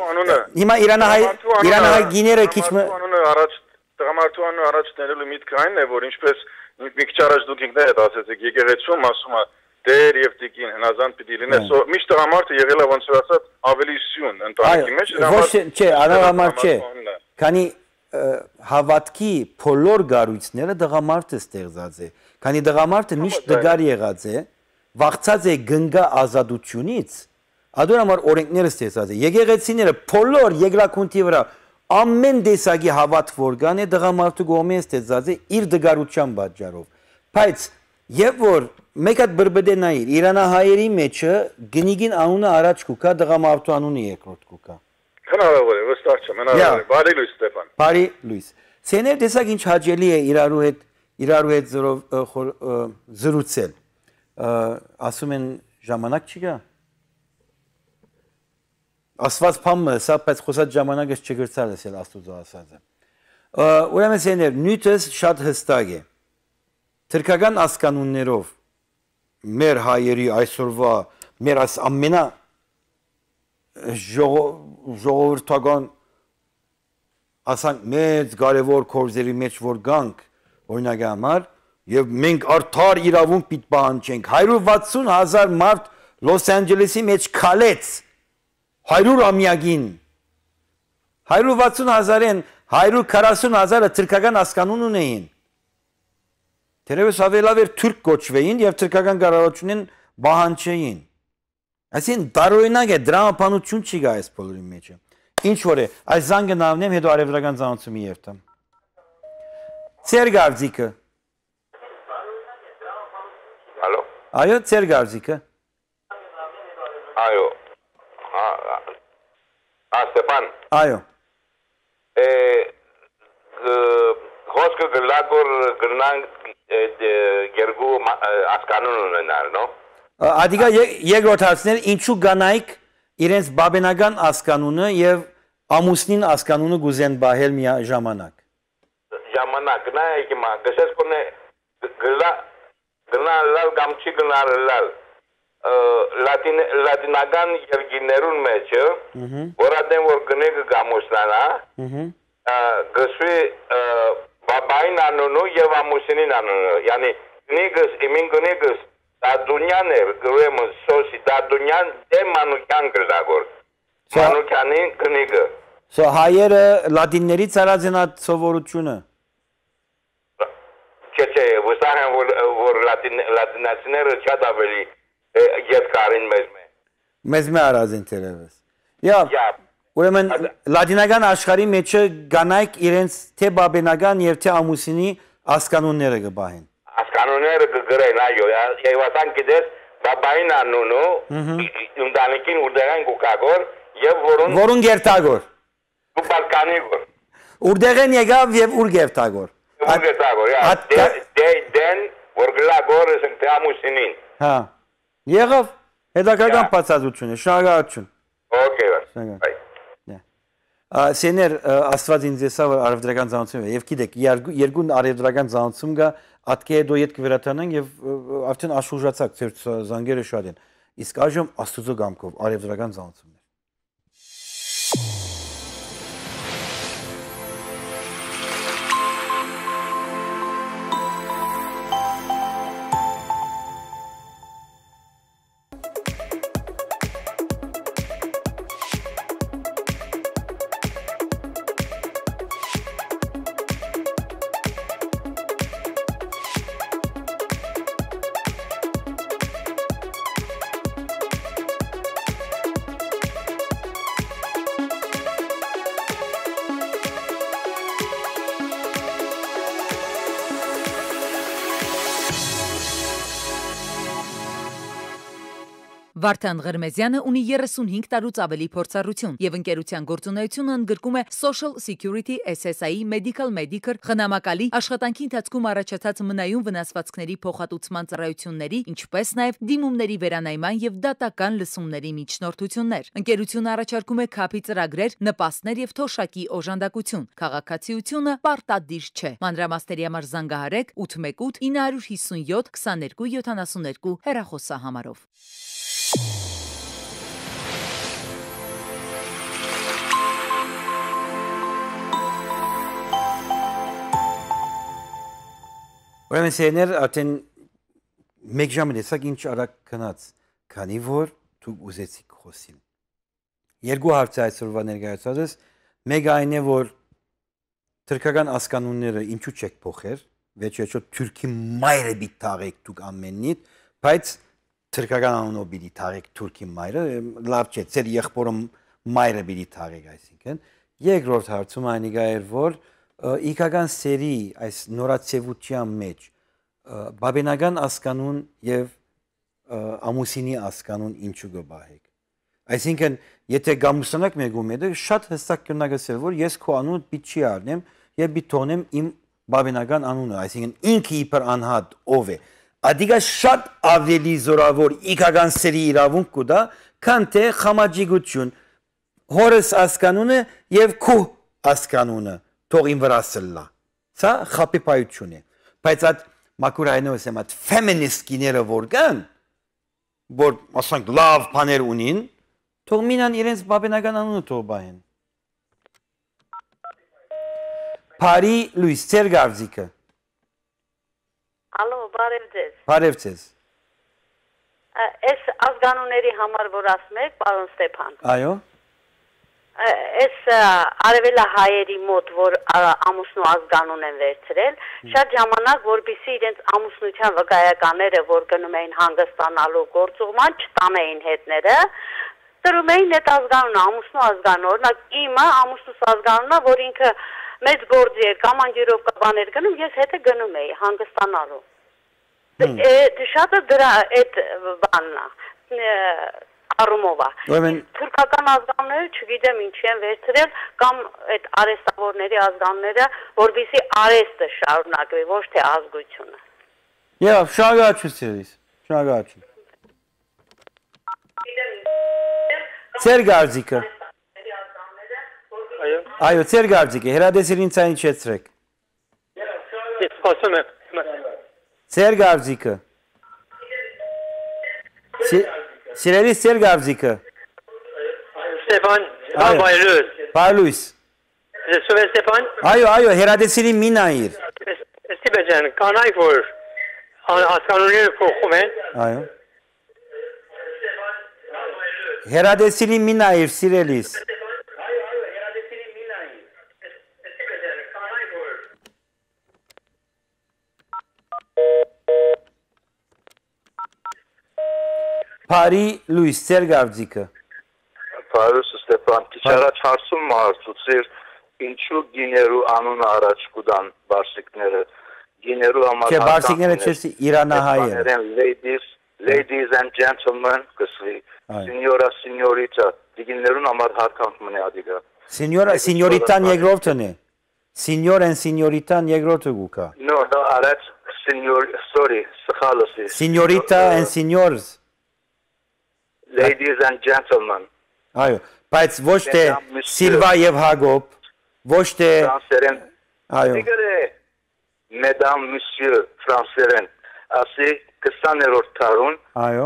Հիմա իրանահայ իրանահայ գիները քիչ
անունը առաջ տղամարդու անունը առաջ ներելու միտքը այն է, որ ինչպես մի քիչ առաջ դուք ինքներդ ասացիք, եկեղեցում ասում է դեր եւ տիկին հնազանդ պիտի լինեն։ Սո միշտ տղամարդը եղել է ոնց որ ասած ավելի սյուն ընտանիքի մեջ։
Ոչ, չէ, անհամար չէ։ Քանի հավատքի բոլոր գառույցները դղամարդը ստեղծած է։ Քանի դղամարդը միշտ դգար եղած է, վախցած է գնգա ազատությունից, ադոր համար օրենքները ստեղծած է։ Եկեղեցիները բոլոր երկրակունթի վրա ամեն տեսակի հավատ որգան է դղամարդու կողմից ստեղծած է իր դգարության պատճառով։ Բայց երբ որ մեկ հատ բրբդե նայիր, իրանահայերի մեջը գնիգին անունը առաջ կուկա, դղամարդու անունը երկրորդ կուկա։
Հնարավոր է, վստահ չեմ, հնարավոր է։ Բարի լույս Ստեփան։
Բարի լույս։ Ցեներ տեսակ ինչ հաճելի է իրարու հետ իրարու հետ զրուցել։ Ասում են ժամանակ չի գա։ Ասված բանը, սա բայց խոսած ժամանակը չգրծալ էսել Աստուծո ասածը։ Ուրեմն ցեներ նյութս շատ հստակ է։ Թրքական ասկանուններով մեր հայերի այսօրվա մեր այս ամենա ժողովրդական ասանք մեծ կարևոր կորձերի մեջ որ գանք օրինակ համար եւ մենք արդար իրավունք պիտ պահանջենք հարյուր վաթսուն հազար մարդ Լոս Անջելեսի մեջ քալեց հարյուր ամյակին հարյուր վաթսուն հազարեն հարյուր քառասուն հազարը թրքական ասկանուն ունեին թերևս ավելավ էր թուրք կոչվեին եւ թրքական կառավարությունեն բահանջեին այսին տարօրինակ է դրամապանություն չի գա այս բոլորի մեջը ինչ որ է այս զանգը նավնեմ հետո արևելական ծանոթացումի երթամ ծեր գարձիկը
Ալո
այո ծեր գարձիկը
այո ա Ստեփան
այո
է խոսքը գլագոր գրնան գերգու ասկանուն ունենալ նո
Ադիգա երկրորդ հարցներ ինչու գանայք իրենց բաբենական ասկանունը եւ ամուսնին ասկանունը գուզեն բահել մի ժամանակ
ժամանակ նայեք մա գսես կոնե գլա գնալալ կամ չի գնալալ լատին լատինական երկիներուն մեջ որադեն որ գնեգ գամոսնանա գսվի բաբային անունը եւ ամուսնին անունը յանի գնեգս իմին գնեգս Դադունյան է գրեմ սոսի դադունյան դե մանուկյան գրագոր մանուկյանին կնիգը
Սո հայերը լատիններից արած են այդ սովորությունը
Չէ չէ վստահ եմ որ լատինացիները շատ ավելի ետքարին մեզ մե
Մեզ մե արած են թերևս Յա ուրեմն լատինական աշխարհի մեջը գանայք իրենց թե բաբենական եւ թե ամուսինի ասկանունները կբահեն
Ասկանունները կգրեն, այո, եւ ասան գիտես, բաբային անունը, ընտանիքին ուրդեղեն կուկագոր, եւ որուն...
Որուն գերտագոր։
Ու բալկանիգոր։
Ուրդեղեն եկավ եւ ուր գերտագոր։
Ուր գերտագոր, յա, դեն, որ գլագոր ասենք թե ամուսինին։
Հա, եղավ, հետաքրքրական բացատրություն է, շնորհակալություն։
Okay, bye.
Սեներ աստված ինձ եսա որ արևդրական ծանոթություն է եւ գիտեք երկու արևդրական ծանոթություն կա ատկե դո յետ կվերաթանան եւ արդեն աշխուժացակ ձեր զանգերը շատ են իսկ այժմ աստուծո գամքով արևդրական ծանոթություններ
Վարդան Ղրմեզյանը ունի երեսունհինգ տարուց ավելի փորձառություն եւ ընկերության գործունեությունը ընդգրկում է Social Security S S I Medical Medicare խնամակալի աշխատանքի ընթացքում առաջացած մնայուն վնասվածքների փոխհատուցման ծառայությունների, ինչպես նաեւ դիմումների վերանայման եւ դատական լսումների միջնորդություններ։ Ընկերությունը առաջարկում է քափի ծրագրեր, նպաստներ եւ թոշակի օժանդակություն։ Քաղաքացիությունը պարտադիր չէ։ Մանրամասների համար զանգահարեք ութ մեկ ութ ինը հիսունյոթ քսաներկու յոթանասուններկու հեռախոսահամարով։
Ուրեմն սերներ արդեն մեկ ժամ դեսակ ինչ արագ գնաց, քանի որ դուք ուզեցիք խոսել։ Երկու հարց է այսօրվա ներկայացածս, մեկը այն է, որ թուրքական ասկանունները ինչու չեք փոխեր, վերջերջո թուրքի մայրը պիտի թաղեք դուք ամենից, բայց թուրքական անունով պիտի թաղեք թուրքի մայրը, լավ չէ, ծեր եղբորը մայրը պիտի թաղեք, այսինքն։ Երկրորդ հարցում այն էր, որ իքական սերի այս նորացևության մեջ բաբենական ասկանուն եւ ամուսինի ասկանուն ինչու գբահեք։ Այսինքն, եթե գամուսանակ մեկում եք, շատ հստակ կնագասել, որ ես քո անունը պիտի չի առնեմ եւ պիտի թողնեմ իմ բաբենական անունը, այսինքն ինքը իբր անհատ ով է։ Ադիգա շատ ավելի զորավոր իքական սերի իրավունք կուտա, քան թե խամաճիգություն, հորս ասկանունը եւ քո ասկանունը թող ին վրա սլլա։ Սա խապիպայություն է։ Բայց այդ մակուրայնով եմ այդ ֆեմինիստ կիները որ կան, որ ասենք լավ բաներ ունին, թող մինան իրենց բաբենական անունը թող բահեն։ Փարի Լուիս Ցերգավզիկը։
Ալո, բարև ձեզ։
Բարև ձեզ։
Այս ազգանունների համար որ ասում եք, պարոն Ստեփան։
Այո։
Այս արևելահայերի մոտ, որ ամուսնու ազգանուն են վերցրել, շատ ժամանակ, որպեսզի իրենց ամուսնության վկայականները, որ գնում էին հանգստանալու գործուղման, չտանեին հետները, տրում էին այդ ազգանունը, ամուսնու ազգանունը, օրինակ իմը ամուսնուս ազգանունը, որ ինքը մեծ գործի էր, կամ անգիրովկա բաներ գնում, ես հետը գնում էի հանգստանալու։ Շատը դրա այդ բանն է, առումով է։ Թուրքական ազգանունները չգիտեմ ինչի են վերցրել կամ այդ արեստավորների ազգանունները, որովհետեւ արեստը շարունակվի, ոչ թե ազգությունը։
Եվ շնորհակալություն սիրելիս, շնորհակալություն։ Ցերգարձիկը։
Այո։
Այո, Ցերգարձիկը, հրադեսիր ինձ այն իջեցրեք։
Ես խոսում եմ։
Ցերգարձիկը։ Սիրելիս Ցերգարձիկը։
Ստեփան, Պայլուս։
Պայլուս։
Լսում ես Ստեփան։
Այո, այո, հերադեսիրի մինայիր։
Ստիպե ջան, կանայք որ ասկանունները փոխում են։
Այո։ Հերադեսիրի մինայիր, սիրելիս։ Փարի Լուիս Ցերգավզիկը։
Պարոս Ստեփան, քիչ առաջ հարցում հարցուցիր, ինչու գիներու անունը առաջ կուտան բարսիկները։ Գիներու համար
Չէ, բարսիկները չէ, իրանահայ են։
Ladies, ladies and gentlemen, կսվի։ Signora, signorita, դիգիներուն համար հարկանք մնի ադիգա։
Signora, signoritան երկրորդն է։ Signor and signoritան երկրորդը գուկա։
No, no, առաջ signor, sorry, սխալս է։
Signorita and signors.
Ladies and gentlemen.
Այո, բայց ոչ թե Սիլվա եւ Հագոբ, ոչ թե
Այո։ Mesdames, Monsieur, ֆրանսերեն, ասի քսաներորդ տարուն։
Այո։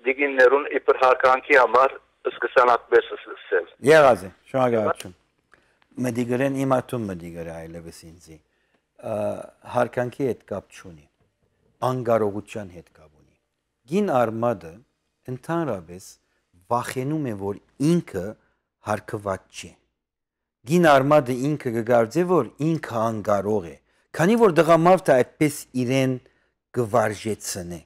Դիգիներուն իբր հարկանքի համար սկսան այդպես ասել։
Եղած է, շնորհակալություն։ Մդիգրեն իմատում մդիգր այլևս ինձի։ Հարկանքի հետ կապ չունի։ Անկարողության հետ կապ ունի։ Գին արմադը ընդհանրապես վախենում է, որ ինքը հարկված չէ։ Գին արմադը ինքը կգարձե, որ ինքը անկարող է, քանի որ դղամարդը այդպես իրեն կվարժեցնե։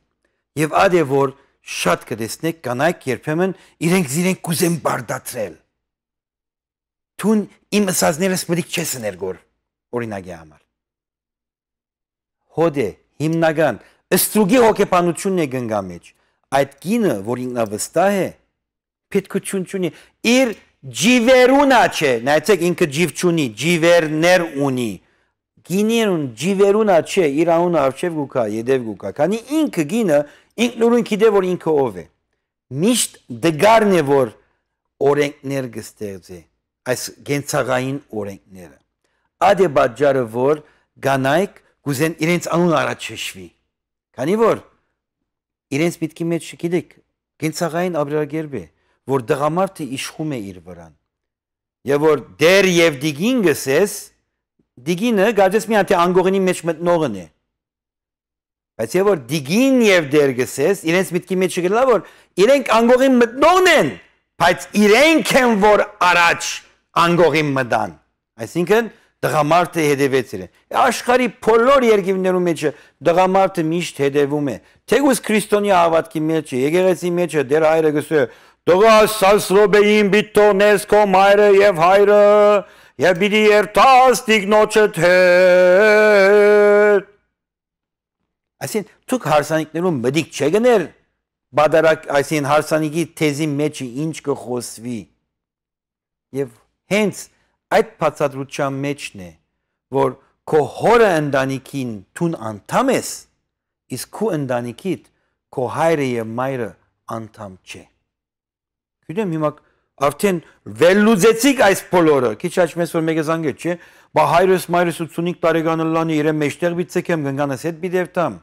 Եվ ադե որ շատ կտեսնեք կանայք երբեմն իրենք իրենք կուզեն բարդացրել։ Թուն իմ ասածներս մտիկ չես ներգոր օրինակի համար։ Հոդե հիմնական ստրուգի հոգեբանությունն է գնգա մեջ։ այդ գինը, որ ինքնավստահ է, պետքություն չունի, իր ջիվերունա չէ, նայեցեք ինքը ջիվ չունի, ջիվերներ ունի, գիներուն ջիվերունա չէ, իր անունը արջև գուկա, յետև գուկա, քանի ինքը գինը, ինքնուրույն գիտե, որ ինքը ով է, միշտ դգարն է, որ օրենքներ կստեղծի, այս գենցաղային օրենքները, ադե բաջարը, որ գանայք գուզեն իրենց անուն առաջ շշվի, քանի որ իրենց միտքի մեջ գիտեք, գենցաղային ապրելակերպ է, որ դղամարդը իշխում է իր վրան, եւ որ դեր եւ դիգին գսես, դիգինը գարձես մի հատ անգողինի մեջ մտնողն է, բայց եւ որ դիգին եւ դեր գսես, իրենց միտքի մեջ գլա որ իրենք անգողին մտնողն են, բայց իրենք են որ առաջ անգողին մտան, այսինքն դղամարդը հետևեցել է, աշխարհի բոլոր երկիրներում մեջ դղամարդը միշտ հետևում է, թեկուզ քրիստոնյա հավատքի մեջ է, եկեղեցի մեջ է, դեր հայրը գսե Դողա սասրոբեին բիտո նես քո մայրը եւ հայրը եւ բիդի երթաս տիկնոջդ հետ Այսին դուք հարսանիքներում մդիկ չգներ բادرակ այսին հարսանիքի թեզի մեջ ինչ կխոսվի եւ հենց այդ բացատրության մեջն է որ քո հորը ընտանիքին տուն անդամ ես իսկ քո ընտանիքիդ քո հայրը եւ մայրը անդամ չէ Գիտեմ հիմա արդեն վերլուծեցիք այս բոլորը, քիչ աչմես որ մեկը զանգեց, չէ՞, բա հայրս մայրս ութսունհինգ տարեկան լանի իրեն մեջտեղ բիցեկեմ գնանես հետ բիդերտամ։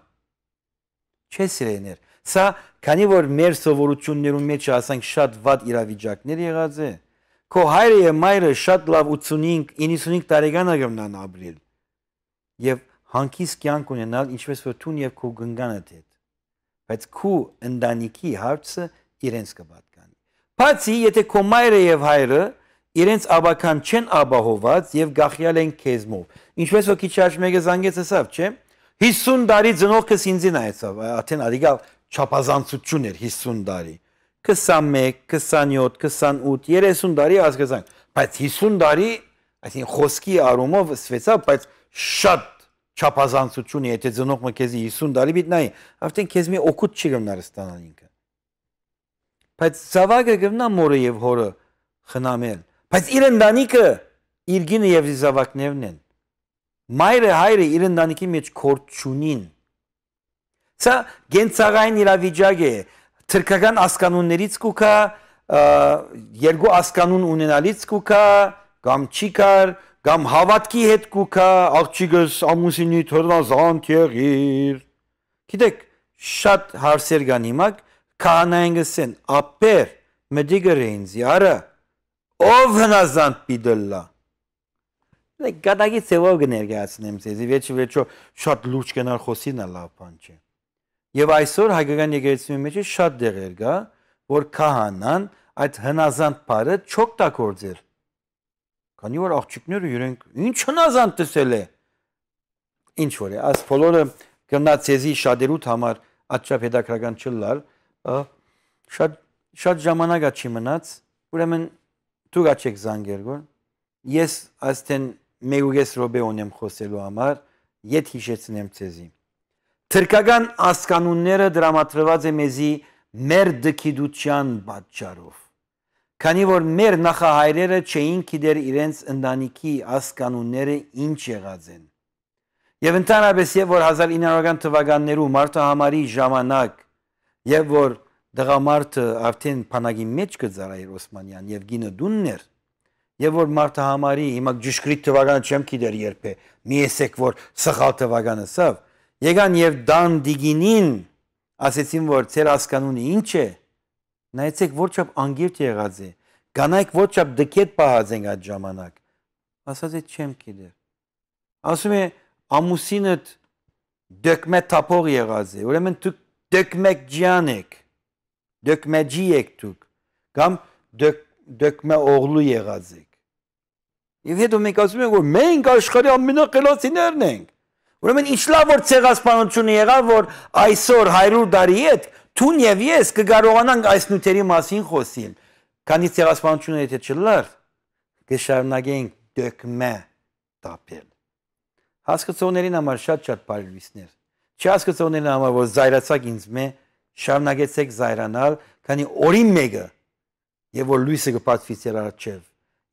Չէ՞ սիրեներ։ Սա քանի որ մեր սովորություններում մեջ ասենք շատ վատ իրավիճակներ եղած է։ Քո հայրը եւ մայրը շատ լավ ութսունհինգ իննսունհինգ տարեկան ագմնան ապրել։ Եվ հանկիստ կյանք ունենալ ինչպես որ տուն եւ քո գնանդ հետ։ Բայց քո ընտանիքի հարցը իրենց կպատկանի։ Բացի եթե քո մայրը եւ հայրը իրենց աբական չեն աբահոված եւ գախյալ են քեզմով։ Ինչպես որ քիչ առաջ մեկը զանգեց ասավ, չէ՞։ հիսուն տարի ծնողքս ինձին այցավ, աթեն ադիգա չափազանցություն էր հիսուն տարի։ քսանմեկ, քսանյոթ, քսանութ, երեսուն տարի ասկազանք, բայց հիսուն տարի, այսինքն խոսքի առումով սվեցավ, բայց շատ չափազանցություն է, եթե ծնողը քեզի հիսուն տարի բիտնայի, արդեն քեզ մի օգուտ չի գնար ստանալ ինքը։ Բայց զավակը գնա մորը եւ հորը խնամել, բայց իր ընտանիքը իր գինը եւ զավակներն են։ Մայրը հայրը իր ընտանիքի մեջ կորտ չունին։ Սա գենցաղային իրավիճակ է, թրքական ասկանուններից կուքա, երկու ասկանուն ունենալից կուքա, կամ չի կար, կամ հավատքի հետ կուքա, աղջիկս ամուսինի թորնազանդ եղիր։ Գիտեք, շատ հարցեր կան հիմա, քահանային գսեն, ապեր, մդիգրենզի, արա, ով հնազանդ պիդլլա։ Գադագի ծևով կներկայացնեմ ձեզ, վեճը վեճո շատ լուրջ կենար խոսին է լավ բան չէ։ Եվ այսօր հայկական եկեղեցու մեջ շատ դեղեր կա, որ քահանան այդ հնազանդ բառը չօգտագործել։ Քանի որ աղջիկները իրենք ինչ հնազանդ տեսել է։ Ինչ որ է, այս բոլորը գնաց ցեզի շատերուտ համար աչափ հետաքրական չլար, շատ շատ ժամանակ չի մնաց, ուրեմն դուք աչեք զանգեր գոր։ Ես աստեն մեգուգես ռոբե ունեմ խոսելու համար, ետ հիշեցնեմ ցեզի։ Թրքական ասկանունները դրամատրված է մեզի մեր դքիդության պատճառով։ Քանի որ մեր նախահայրերը չէին գիտեր իրենց ընտանիքի ասկանունները ինչ եղած են։ Եվ ընդհանրապես եւ որ հազար ինը հարյուր թվականներու մարտահամարի ժամանակ եւ որ դղամարդը արդեն փանագի մեջ կծարայր Օսմանյան եւ գինը դուններ եւ որ մարտահամարի հիմա ճշգրիտ թվականը չեմ գիտեր երբ է մի էսեք որ սխալ թվականը սավ եկան եւ դան դիգինին ասեցին որ ծեր ասկանունը ինչ է նայեցեք որչափ անգիրտ եղած է կանայք որչափ դկետ պահած են այդ ժամանակ ասած է չեմ գիտեր ասում է ամուսինդ դեկմե տապող եղած է ուրեմն դուք դեկմեկ ջան եք դեկմեջի եք դուք կամ դեկմե օղլու եղած եք եւ հետո մենք ասում ենք որ մենք աշխարհի ամենախելացիներն ենք ուրեմն ինչ լավ որ ցեղասպանությունը եղավ որ այսօր հարյուր տարի հետ Տուն եւ ես կկարողանանք այս նյութերի մասին խոսել քանի ցեղասպանությունը եթե չլար կշարունակենք դեկմե տապել հասկացողներին համար շատ շատ բարելույսներ չհասկացողներին համար որ զայրացակ ինձ մե շարունակեցեք զայրանալ, քանի օրին մեկը եւ որ լույսը կպատվի ձեր առջև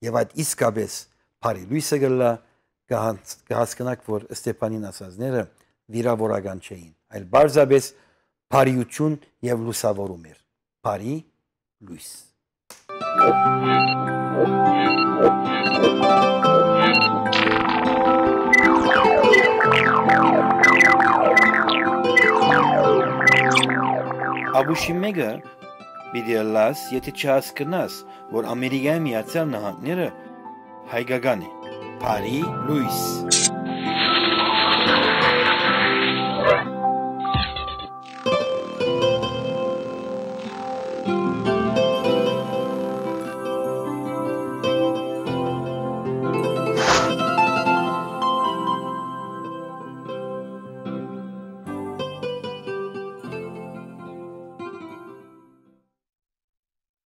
եւ այդ իսկապես բարի լույսը գլա կհասկանաք, որ Ստեփանին ասածները վիրավորական չէին, այլ բարձրապես բարիություն եւ լուսավորում էր, բարի լույս։ Աբուշի մեկը պիտի լաս, եթե չհասկանաս, որ Ամերիկայի Միացյալ Նահանգները հայկական է, բարի լույս։